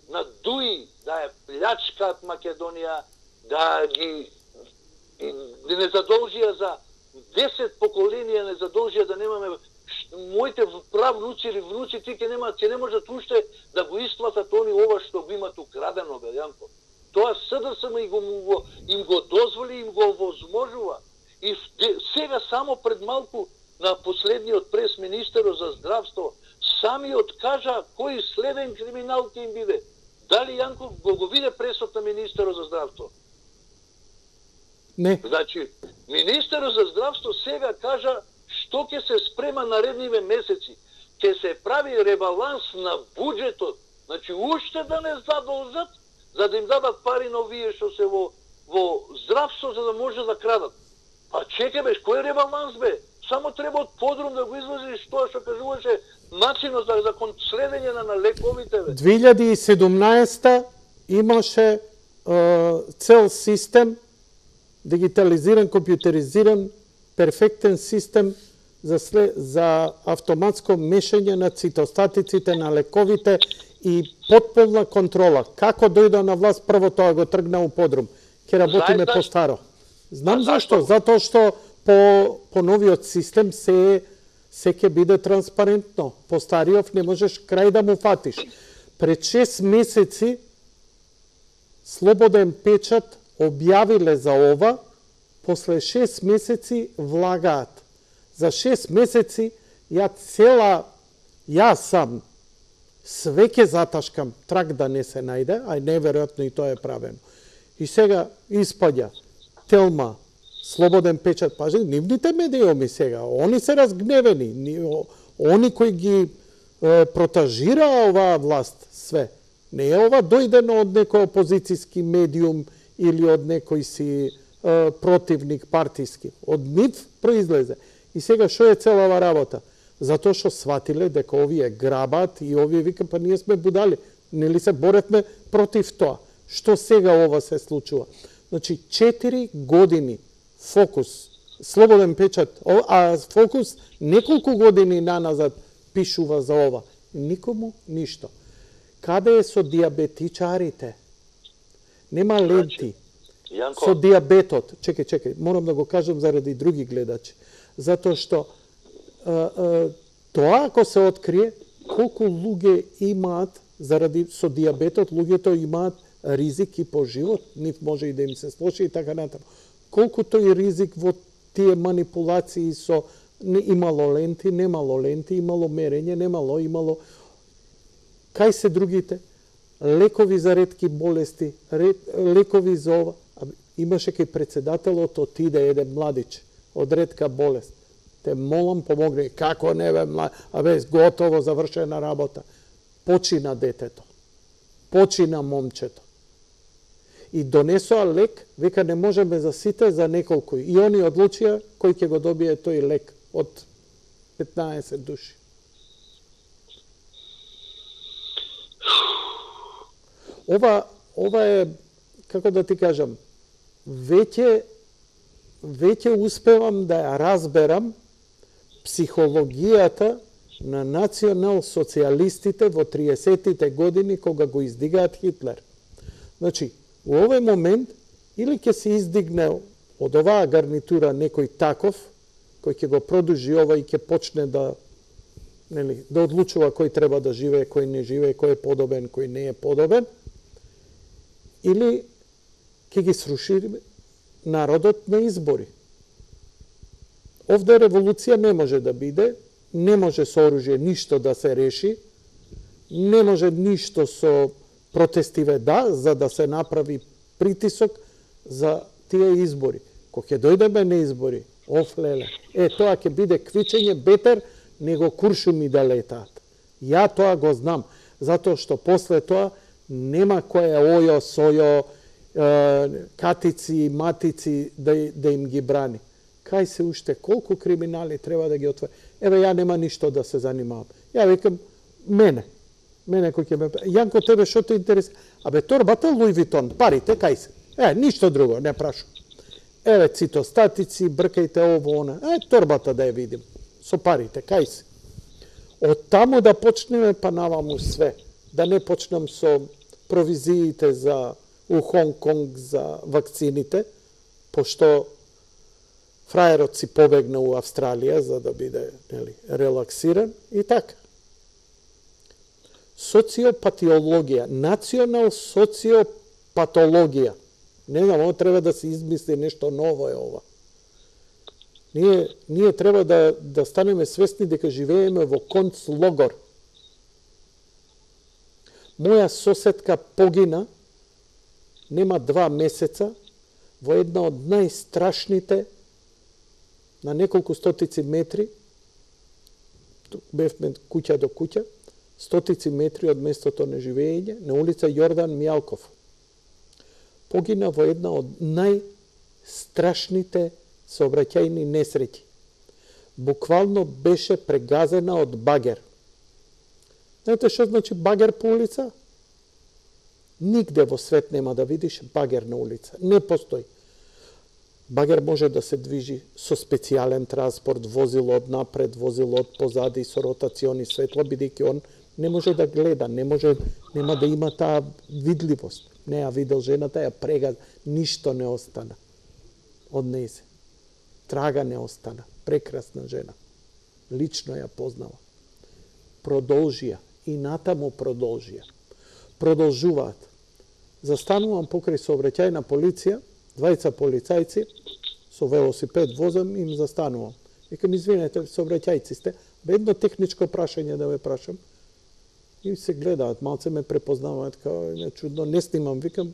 на ДУИ да ја плячкаат Македонија, да ги не задолжија за 10 поколенија, не задолжија да немаме моите правнуци или внуци, ти ќе не можат уште да го исплатат они ова што го имат украдено, бе, Јанко. Тоа СДСМ им го дозволи, им го овозможува. И сега само пред малку на последниот прес министерот за здравство самиот кажа кој следен криминал ќе им биде. Дали Јанко го виде пресот на министерот за здравство? Не. Значи, министерот за здравство сега кажа што ќе се спрема наредниве месеци. Ќе се прави ребаланс на буџетот. Значи, уште да не задолжат, за да им дадат пари на овие што се во здравство, за да може да крадат. Па чекай, бе, кој ребаланс, бе? Само треба од подрум да го излазиш тоа што кажуваше начинот за следење на лековите, бе. 2017 имаше цел систем, дигитализиран, компјутеризиран, перфектен систем за автоматско мешање на цитостатиците на лековите и потполна контрола. Како дојде на власт, прво тоа го тргна у подрум. Ке работиме по старо. Знам зашто? Затоа што по новиот систем се ќе биде транспарентно. По стариот не можеш крај да му фатиш. Пред 6 месеци Слободен печат објавиле за ова, после 6 месеци влагаат. За 6 месеци јас сам све ќе заташкам, трак да не се најде, а неверојатно и тоа е правено. И сега испаѓа Телма, Слободен печат, пажи, нивните медиуми сега, они се разгневени, они кои ги протажира оваа власт, све. Не е ова дојдено од некој опозицијски медиум или од некој си противник партиски. Од нив произлезе. И сега што е цела ова работа? Затоа што сватиле дека овие грабат и овие вика, па ние сме будали. Нели се боревме против тоа. Што сега ова се случува? Значи, 4 години Фокус, Слободен печат, а Фокус неколку години наназад пишува за ова. Никому ништо. Каде е со диабетичарите? Нема ленти. Со диабетот. Чекај, морам да го кажам заради други гледачи. Затоа што тоа ако се открие, колку луѓе имаат заради со диабетот, луѓето имаат ризик и по живот, нив може и да им се слоши и така натаму. Колку тој ризик во тие манипулации со имало ленти, немало ленти, имало мерење, имало кај се другите лекови за ретки болести, лекови за ова. Имаше кај председателот отиде еден младич од ретка болест. Те молам помогни. Како не бе млад, готово завршена работа. Почина детето. Почина момчето. И донесоа лек, века не можеме за сите, за неколку. И они одлучија кој ќе го добие тој лек од 15 души. Ова е, како да ти кажам, веќе успевам да ја разберам психологијата на национал-социјалистите во 30-тите години кога го издигаат Хитлер. Значи, во овој момент или ќе се издигне од оваа гарнитура некој таков кој ќе го продужи ова и ќе почне да одлучува кој треба да живее, кој не живее, кој е подобен, кој не е подобен, или ќе ги сруши народот на избори. Овде револуција не може да биде, не може со оружје ништо да се реши, не може ништо со протестиве за да се направи притисок за тие избори. Кога ќе дојдеме на избори, леле, тоа ќе биде квичење бетер него куршуми да летаат. Ја тоа го знам, затоа што после тоа нема кој ојо, сојо, катици, матици да им ги брани. Кај се уште, колку криминали треба да ги отвори? Еве, ја нема ништо да се занимавам. Ја викам, мене кој ќе ме... Јанко, тебе што те интересира? Торбата Луи Витон, парите, кај се? Ништо друго, не прашувам. еве цитостатици, бркајте ово, она. Торбата да ја видим. Со парите, кај си. Од таму да почнеме, па наваму све. Да не почнам со провизиите за у Хонг Конг за вакцините, пошто фраерот си побегна у Австралија за да биде релаксиран и така. Социопатиологија, национал социопатологија. Не знам, ово треба да се измисли нешто ново е ова. Ние треба да станеме свесни дека живееме во концлогор. Моја соседка погина нема 2 месеца во една од најстрашните на неколку стотици метри, бевме куќа до куќа, стотици метри од местото на живење, на улица Јордан Мјалков. Погина во една од најстрашните сообраќајни несреќи. Буквално беше прегазена од багер. Знаете што значи багер по улица? Нигде во свет нема да видиш багер на улица. Не постои. Багер може да се движи со специјален транспорт, возило од напред, возило од позади, со ротациони светла, бидејќи он не може да гледа, нема да има таа видливост. Не ја видел жената, ја прегаза, ништо не остана од нејзе. Трага не остана. Прекрасна жена. Лично ја познава. Продолжија. И натаму продолжија. Продолжуваат. Застанувам покрај сообраќајна полиција, 2 полицајци, со велосипед возам, им застанувам. Викам, извинете, сообраќајци сте, едно техничко прашање да ве прашам. И се гледаат, малце ме препознаваат, као не чудно, не снимам, викам,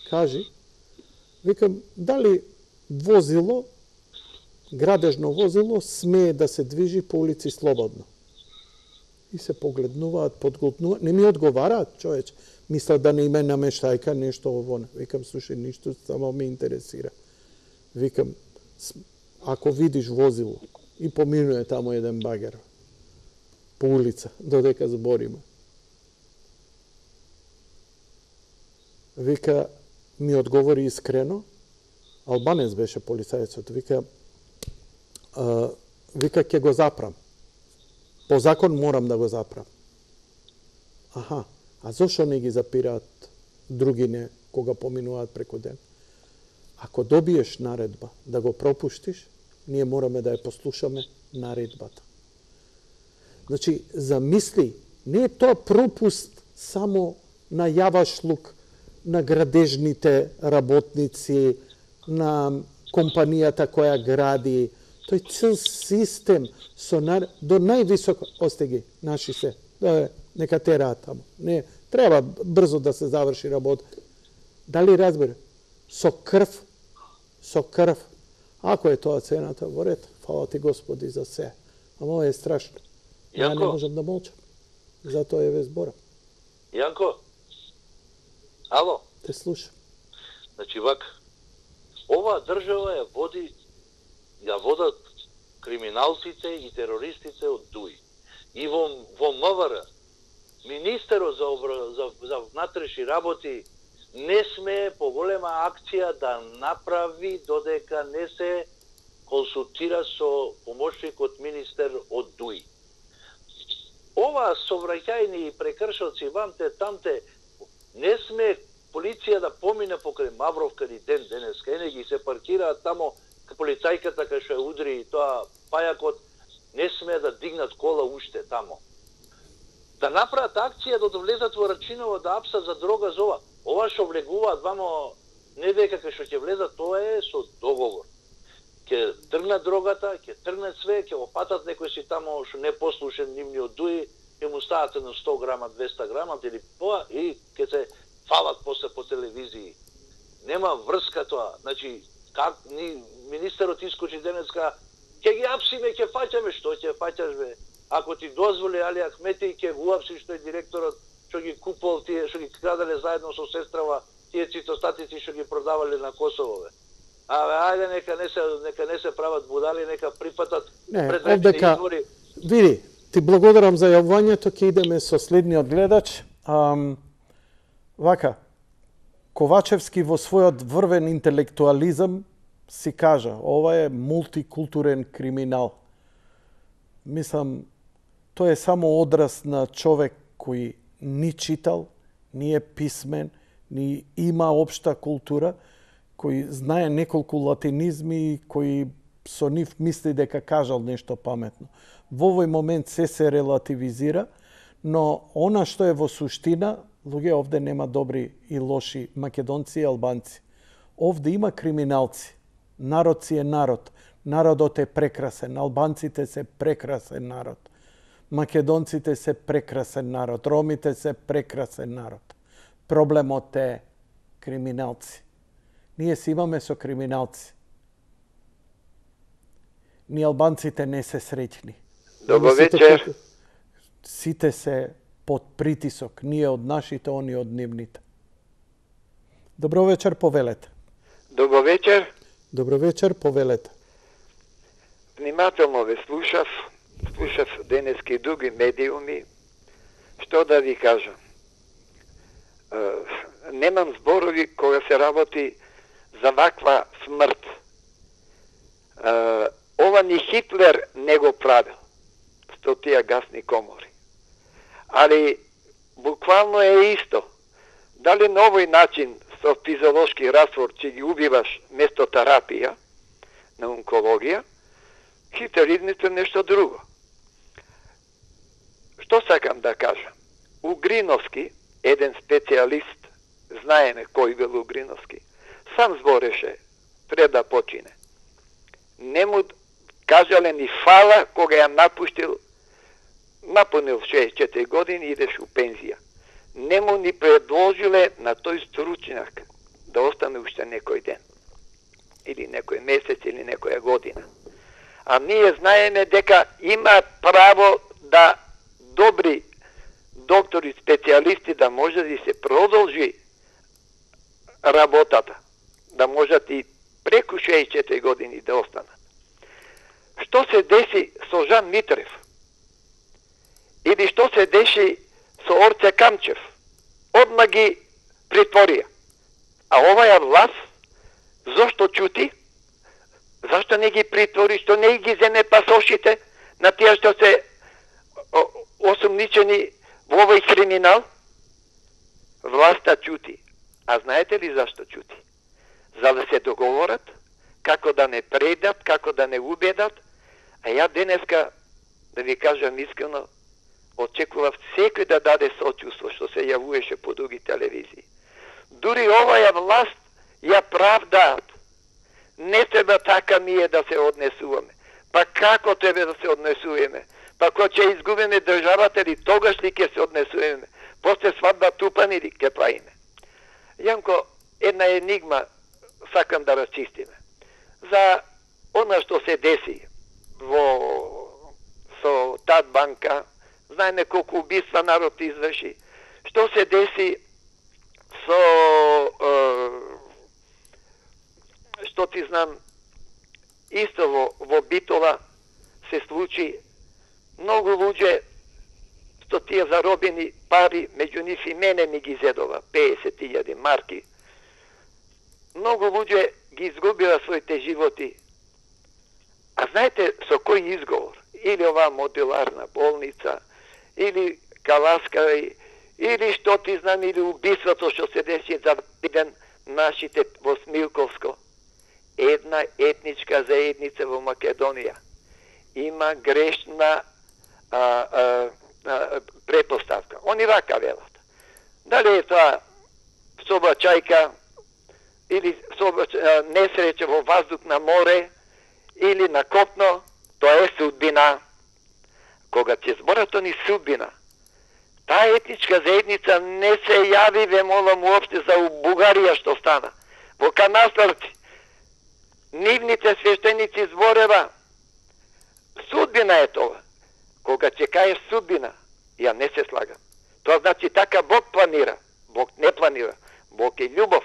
кажи. Викам, дали возило, градежно возило, смее да се движи по улици слободно? И се погледнуваат, подголтнуваат, не ми одговараат, човече. Мислат да не име намештајка, нешто ово. Викам, слушај, ништо само ме интересира. Викам, ако видиш возило и поминуе тамо еден багер по улица, додека збориме. Вика, ми одговори искрено, албанец беше полицајецот, вика, ќе го запрам. По закон морам да го запрам. Аха, а зошто не ги запираат другине кога поминуваат преку ден? Ако добиеш наредба да го пропуштиш, ние мораме да ја послушаме наредбата. Значи, замисли, не е тоа пропуст само на јавашлук, на градежните работници, на компанијата која гради, тој цел систем до највисоко остеги наши се. Нека тераат тамо. Не, треба брзо да се заврши работа. Дали разбере? Со крв. Ако е тоа цената, во ред, фала ти Господи за се. Ама ова е страшно. Ја не можам да молчам. Затоа е ве зборам. Јанко, ало? Те слушам. Значи, вак, оваа држава ја водат криминалците и терористите од ДУИ. И во МВР, министерот за внатрешни работи не смее поголема акција да направи додека не се консултира со помошникот министер од ДУИ. Ова совраќајни и прекршоци вамте тамте не смее полиција да помине покрај Мавровка ни ден денеска. Ене ги се паркираат тамо полицајката кај што ја удри тоа пајакот, не смее да дигнат кола уште тамо. Да направат акција да влезат во Рачиново да апсат за дрога за ова. Ова што влегуваат вамо не дека кај што ќе влезат, тоа е со договор. Ќе тргнат дрогата, ќе тргнат све, ќе опатат некој си тамо што не послушен нивниот ДУИ, ќе му стават на 100 грама, 200 грама или поа и ќе се фалат после по телевизии. Нема врска тоа. Значи, как министерот искочи денеска, ќе ги апсиме, ќе фаќаме, што ќе фаќаш бе? Ако ти дозволи Али Ахмети, ќе го апси што е директорот што ги купувал тие, што ги крадале заедно со сестрава, тие цитостатици што ги продавале на Косово бе. Ајде нека не се прават будали, нека прифатат предвечни избори. Види, ти благодарам за јавувањето, ќе идеме со следниот гледач. Вака, Ковачевски во својот врвен интелектуализам си кажа, ова е мултикултурен криминал. Мислам, тоа е само одраз на човек кој ни читал, ни е писмен, ни има општа култура, кој знае неколку латинизми, кој со нив мисли дека кажал нешто паметно. Во овој момент се релативизира, но она што е во суштина, луѓе, овде нема добри и лоши македонци и албанци. Овде има криминалци. Народ си е народ. Народот е прекрасен. Албанците се прекрасен народ. Македонците се прекрасен народ. Ромите се прекрасен народ. Проблемот е криминалци. Ние си имаме со криминалци. Ние албанците не се среќни. Добро вечер. Сите се под притисок. Ние од нашите, они од нивните. Добро вечер, повелете. Добро вечер. Добро вечер, повелете. Внимателно ве слушав денески други медиуми. Што да ви кажам? Немам зборови кога се работи за ваква смрт. Ова ни Хитлер не го правил со тие гасни комори. Али буквално е исто. Дали на овој начин со физиолошки раствор ќе ги убиваш место терапија на онкологија, хитеризмите нешто друго. Што сакам да кажам? Угриновски, еден специјалист, знаеме кој бил Угриновски, сам збореше пред да почине. Не му кажале ни фала кога ја напунил 64 години и идеш у пензија. Не му ни предложиле на тој стручњак да остане уште некој ден. Или некој месец, или некоја година. А ние знаеме дека има право да добри доктори, специјалисти да може да се продолжи работата. Да можат и преку 64 години да останат. Што се деси со Жан Митрев? Или што се деши со Орце Камчев? Одма ги притворија. А оваја власт, зошто чути? Зашто не ги притвори? Што не ги земе пасошите на тие што се осумничени во овој криминал? Власта чути. А знаете ли зашто чути? За да се договорат, како да не предат, како да не убедат. А ја денеска, да ви кажам искрено, очекував секој да даде сочувство што се јавуваше по други телевизии. Дури оваја власт ја правдаат. Не треба така ние да се однесуваме. Па како треба да се однесуваме? Па кога ќе изгубиме државата ли, тогаш ли ќе се однесуваме? После свадба тупани ли ќе правиме? Јанко, една енигма сакам да расчистиме. За она што се деси со тад банка, знаеме колку убиства народ изврши. Што се деси со што ти знам, исто во Битола се случи. Многу луѓе што тие заробени пари, меѓу нив и мене ми ги зедова 50.000 марки. Многу луѓе ги изгубила своите животи. А знаете со кој изговор? Или оваа модуларна болница, или Каласка, или што ти знам, или убиството што се деси за ден нашите во Смилковско. Една етничка заедница во Македонија има грешна претпоставка. Они вака велат. Дали е тоа собачајка, или несреќа во ваздух на море, или на копно, тоа е судбина. Кога ќе зборат они судбина, таа етничка заедница не се јави, ве молам, уопште за Бугарија што стана. Во Канастарци, нивните свештеници зборева, судбина е тоа. Кога ќе кажеш судбина, ја не се слагам. Тоа значи така Бог планира. Бог не планира. Бог е љубов.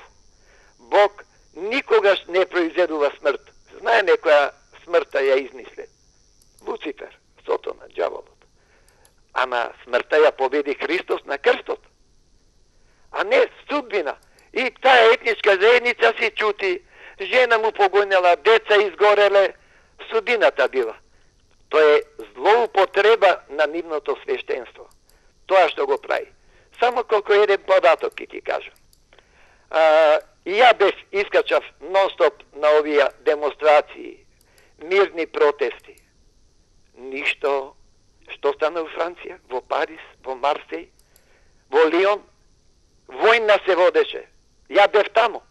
Бог никогаш не произведува смрт. Знае некоја смртта ја измисле. Луцифер, Сотона, ѓаволот. Ама смртта ја победи Христос на крстот. А не судбина. И таа етничка заедница си чути, жена му погонела, деца изгореле, судината била. Тоа е злоупотреба на нивното свештенство. Тоа што го прави. Само колку еден податок ќе ти кажам. И ја бев искачав нон-стоп на овие демонстрации, мирни протести. Ништо. Што стана во Франција, во Париз, во Марсеј, во Лион? Војна се водеше. Ја бев таму.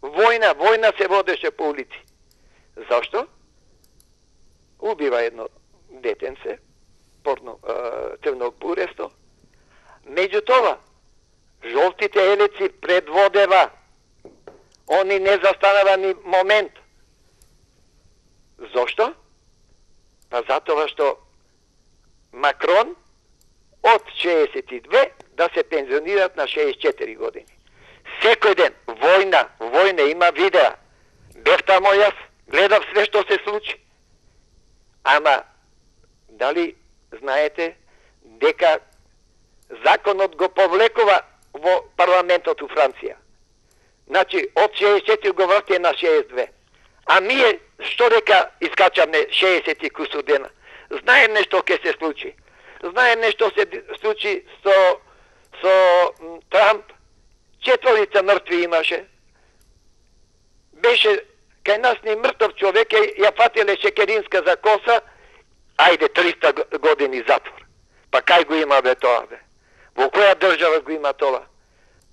Војна се водеше по улици. Зашто? Убива едно детенце, црнобуресто. Меѓутоа, жолтите елеци предводева. Они не застанава ни момент. Зошто? Па затоа што Макрон од 62 да се пензионират на 64 години. Секој ден војна, има видеа. Бев тамо јас, гледав све што се случи. Ама, дали знаете дека законот го повлекува во парламентот у Франција? Значи, од 64 го врти на 62. А ние, што дека искачаме 60 кусу дена? Знаеме што ќе се случи. Знаеме што се случи со Трамп. 4 мртви имаше. Беше кај нас ни мртов човек, ја фатиле Шекеринска за коса, ајде 300 години затвор. Па кај го има бе тоа бе? Во која држава го има тоа?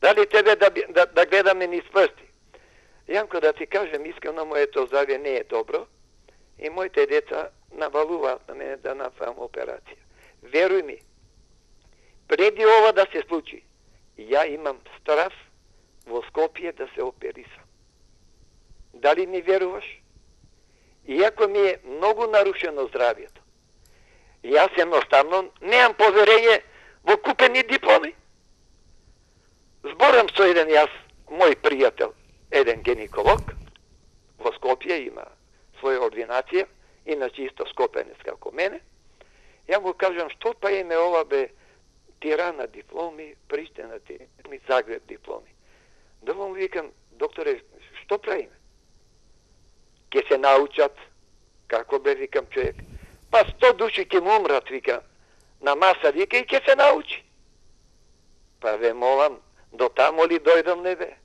Дали тебе да гледаме низ прсти? Јанко, да ти кажем, искрено моето здравје не е добро и моите деца навалуваат на мене да направам операција. Веруј ми, преди ова да се случи, ја имам страв во Скопје да се оперисам. Дали ми веруваш? Иако ми е многу нарушено здравјето, јас едноставно немам поверење во купени дипломи. Зборам со еден мој пријател, еден гинеколог, во Скопје има своја ординација, иначе исто скопенец како мене. Ја му кажам, што па име ова бе Тирана дипломи, Приштина дипломи, Загреб дипломи. Да му викам, докторе, што правиме? Ке се научат, како бе, викам, човек. Па 100 души ке му умрат, вика, на маса, вика, и ке се научи. Па ве молам, до тамо ли дојдам, не бе?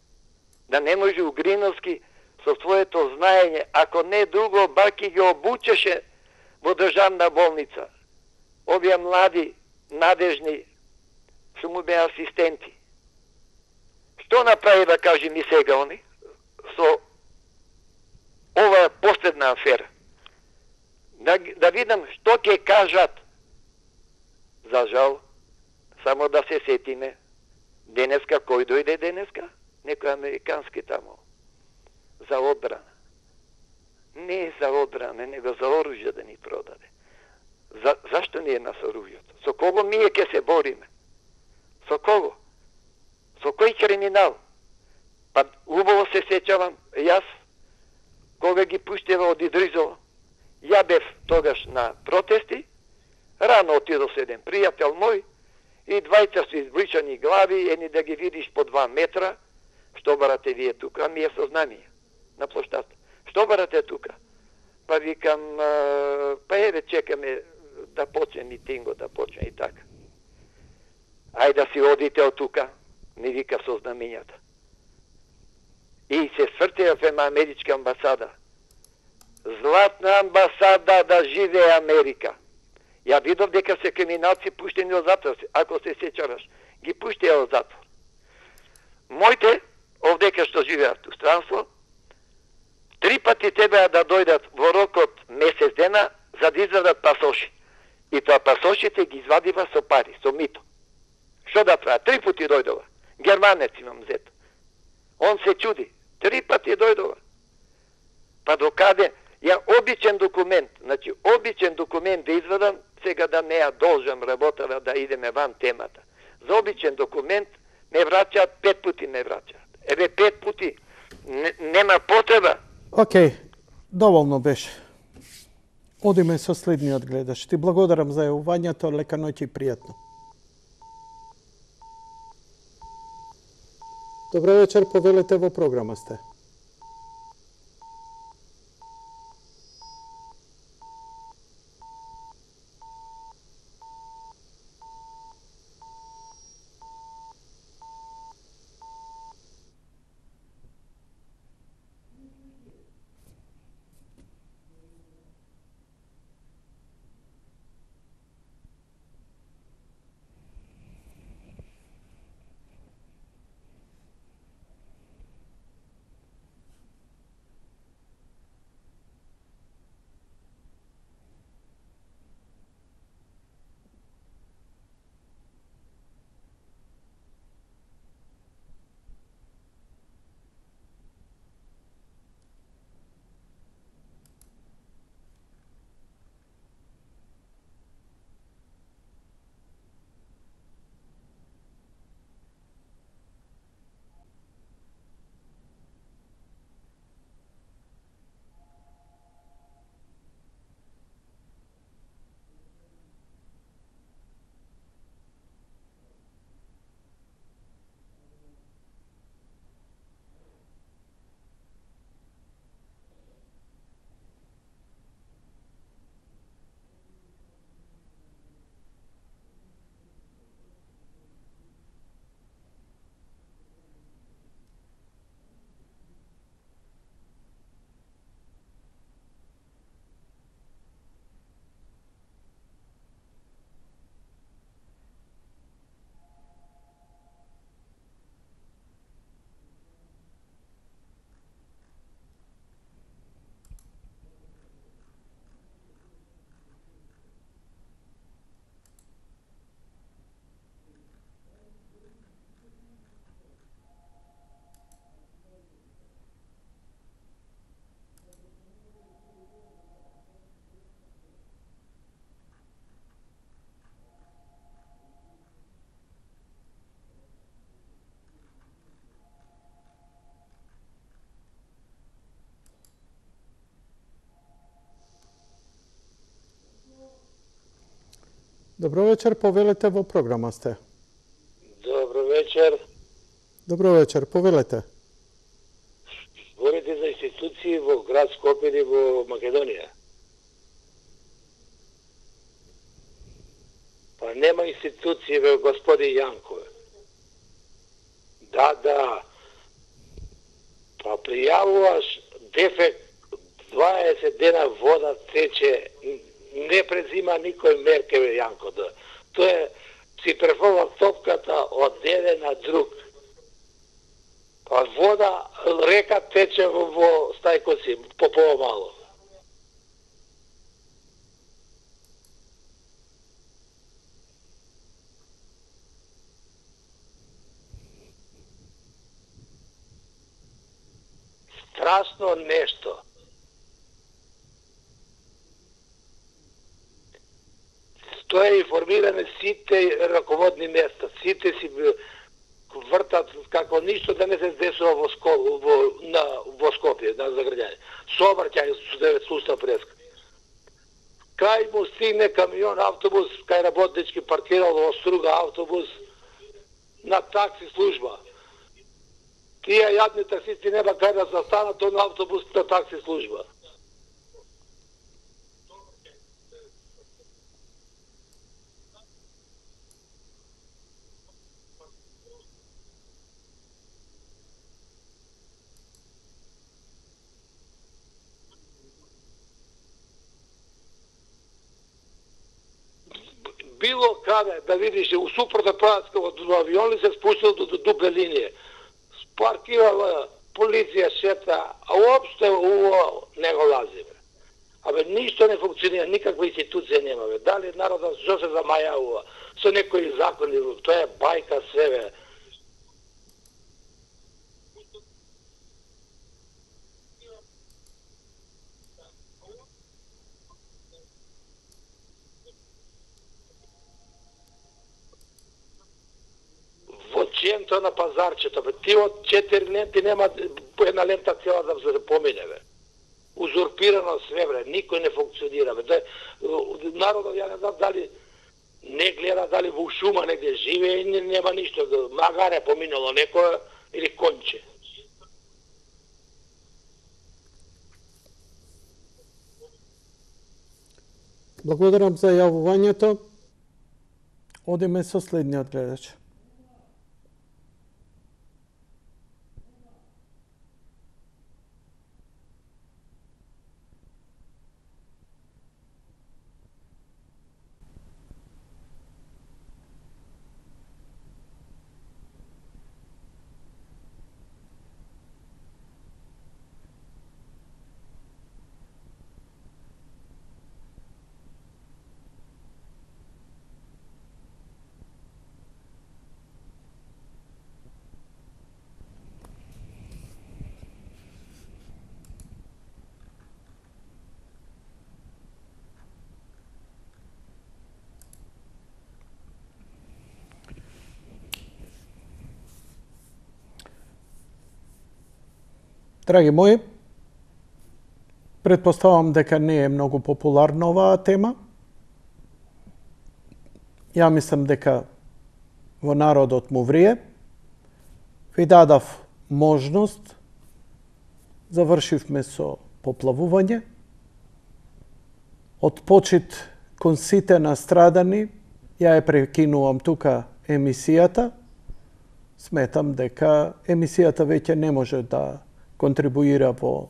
Да не може Угриновски со своето знаење, ако не друго, бар ки ги обучеше во државна болница. Овие млади, надежни, што му бе асистенти. Што направи, да кажи ми сега они, со оваа последна афера? Да видам што ќе кажат. За жал, само да се сетиме, денеска, кој дојде денеска? Некој американски тамо. За одбрана. Не е за одбрана, него за оружје да ни продаде. Зашто не е нас оружјето? Со кого ние ќе се бориме? Со кого? Со кој криминал? Па убаво се сеќавам, јас, кога ги пуштева од Идризово, ја бев тогаш на протести, рано отидов со еден пријател мој, и двајца се избричани глави, едни да ги видиш по 2 метра, што барате вие тука, ми е сознание на площадта. Што барате тука? Па викам, па еве чекаме да почне митингот, да почне и така. Ајде да си одите од тука, ми вика со знамењата. И се свртеа ема америчка амбасада. Златна амбасада, да живее Америка. Ја видов дека се криминалци пуштени од затвор, ако се сеќаваш, ги пуштеа од затвор. Моите, овдека што живеат у странство, 3 пати требаа да дојдат во рокот месец дена за да извадат пасоши. И тоа пасошите ги извадива со пари, со мито. Што да прават? 3 пати дојдова. Германец имам зет. Он се чуди. 3 пати дојдова. Па докаде? Ја обичен документ, значи обичен документ да извадам, сега да не ја должам работава да идеме ван темата. За обичен документ ме враќаат 5 пути ме враќаат. Еве 5 пути. Нема потреба. Океј, доволно беше. Одиме со следниот гледач. Ти благодарам за јавувањето, лека ноќ и пријатно. Добро вечер, повелете, во програма сте. Добро вечер, повелете, во програма сте. Добро вечер. Добро вечер, повелете. Зборите за институции во град Скопје или во Македонија? Па нема институции, бе, господи Јанко. Да. Па пријавуваш дефект, 20 дена вода тече, не презима никој мерке, бе, Јанко. Тоа е, си префрла топката од еден на друг. Па вода, река тече во стајкоци, по помало. Страшно нешто. Тоа е информиране сите раководни места, сите си вртат како ништо да не се десува во Скопје, на заграѓање. Сообраќај сустав преска. Кај му стигне камион, автобус, кај работнички паркирал во Струга автобус на такси служба. Тие јадни таксисти нема кај да застанат на автобус на такси служба. Било каде да видиш у супротна правац од авион ли се спустил до дупе линија. Паркирала полиција шета, а уопште уво не го лази. Абе ништо не функционира, никаква институција нема. Дали народот што се замајавува со некои закони, тоа е бајка све. Центро на пазарчето, бе. Ти од 4 ленти нема една лента цела да се помине, бе. Узурпирано све, бе. Никој не функционира, бе. Народот, ја не знам дали не гледа, дали во шума негде живее и нема ништо. Магаре поминало некој или конче. Благодарам за јавувањето. Одиме со следниот гледач. Драги мои, предпоставам дека не е многу популарна оваа тема. Ја мислам дека во народот му врие. Ви дадав можност, завршивме со поплавување. Од почит кон сите настрадани, ја ја прекинувам тука емисијата. Сметам дека емисијата веќе не може да контрибуира во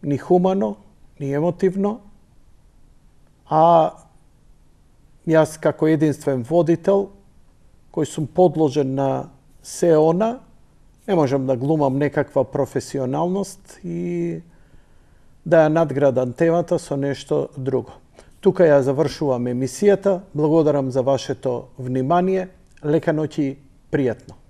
ни хумано, ни емотивно, а јас како единствен водител, кој сум подложен на се она, не можам да глумам некаква професионалност и да ја надградам темата со нешто друго. Тука ја завршувам емисијата. Благодарам за вашето внимание. Лека ноќ и пријатно.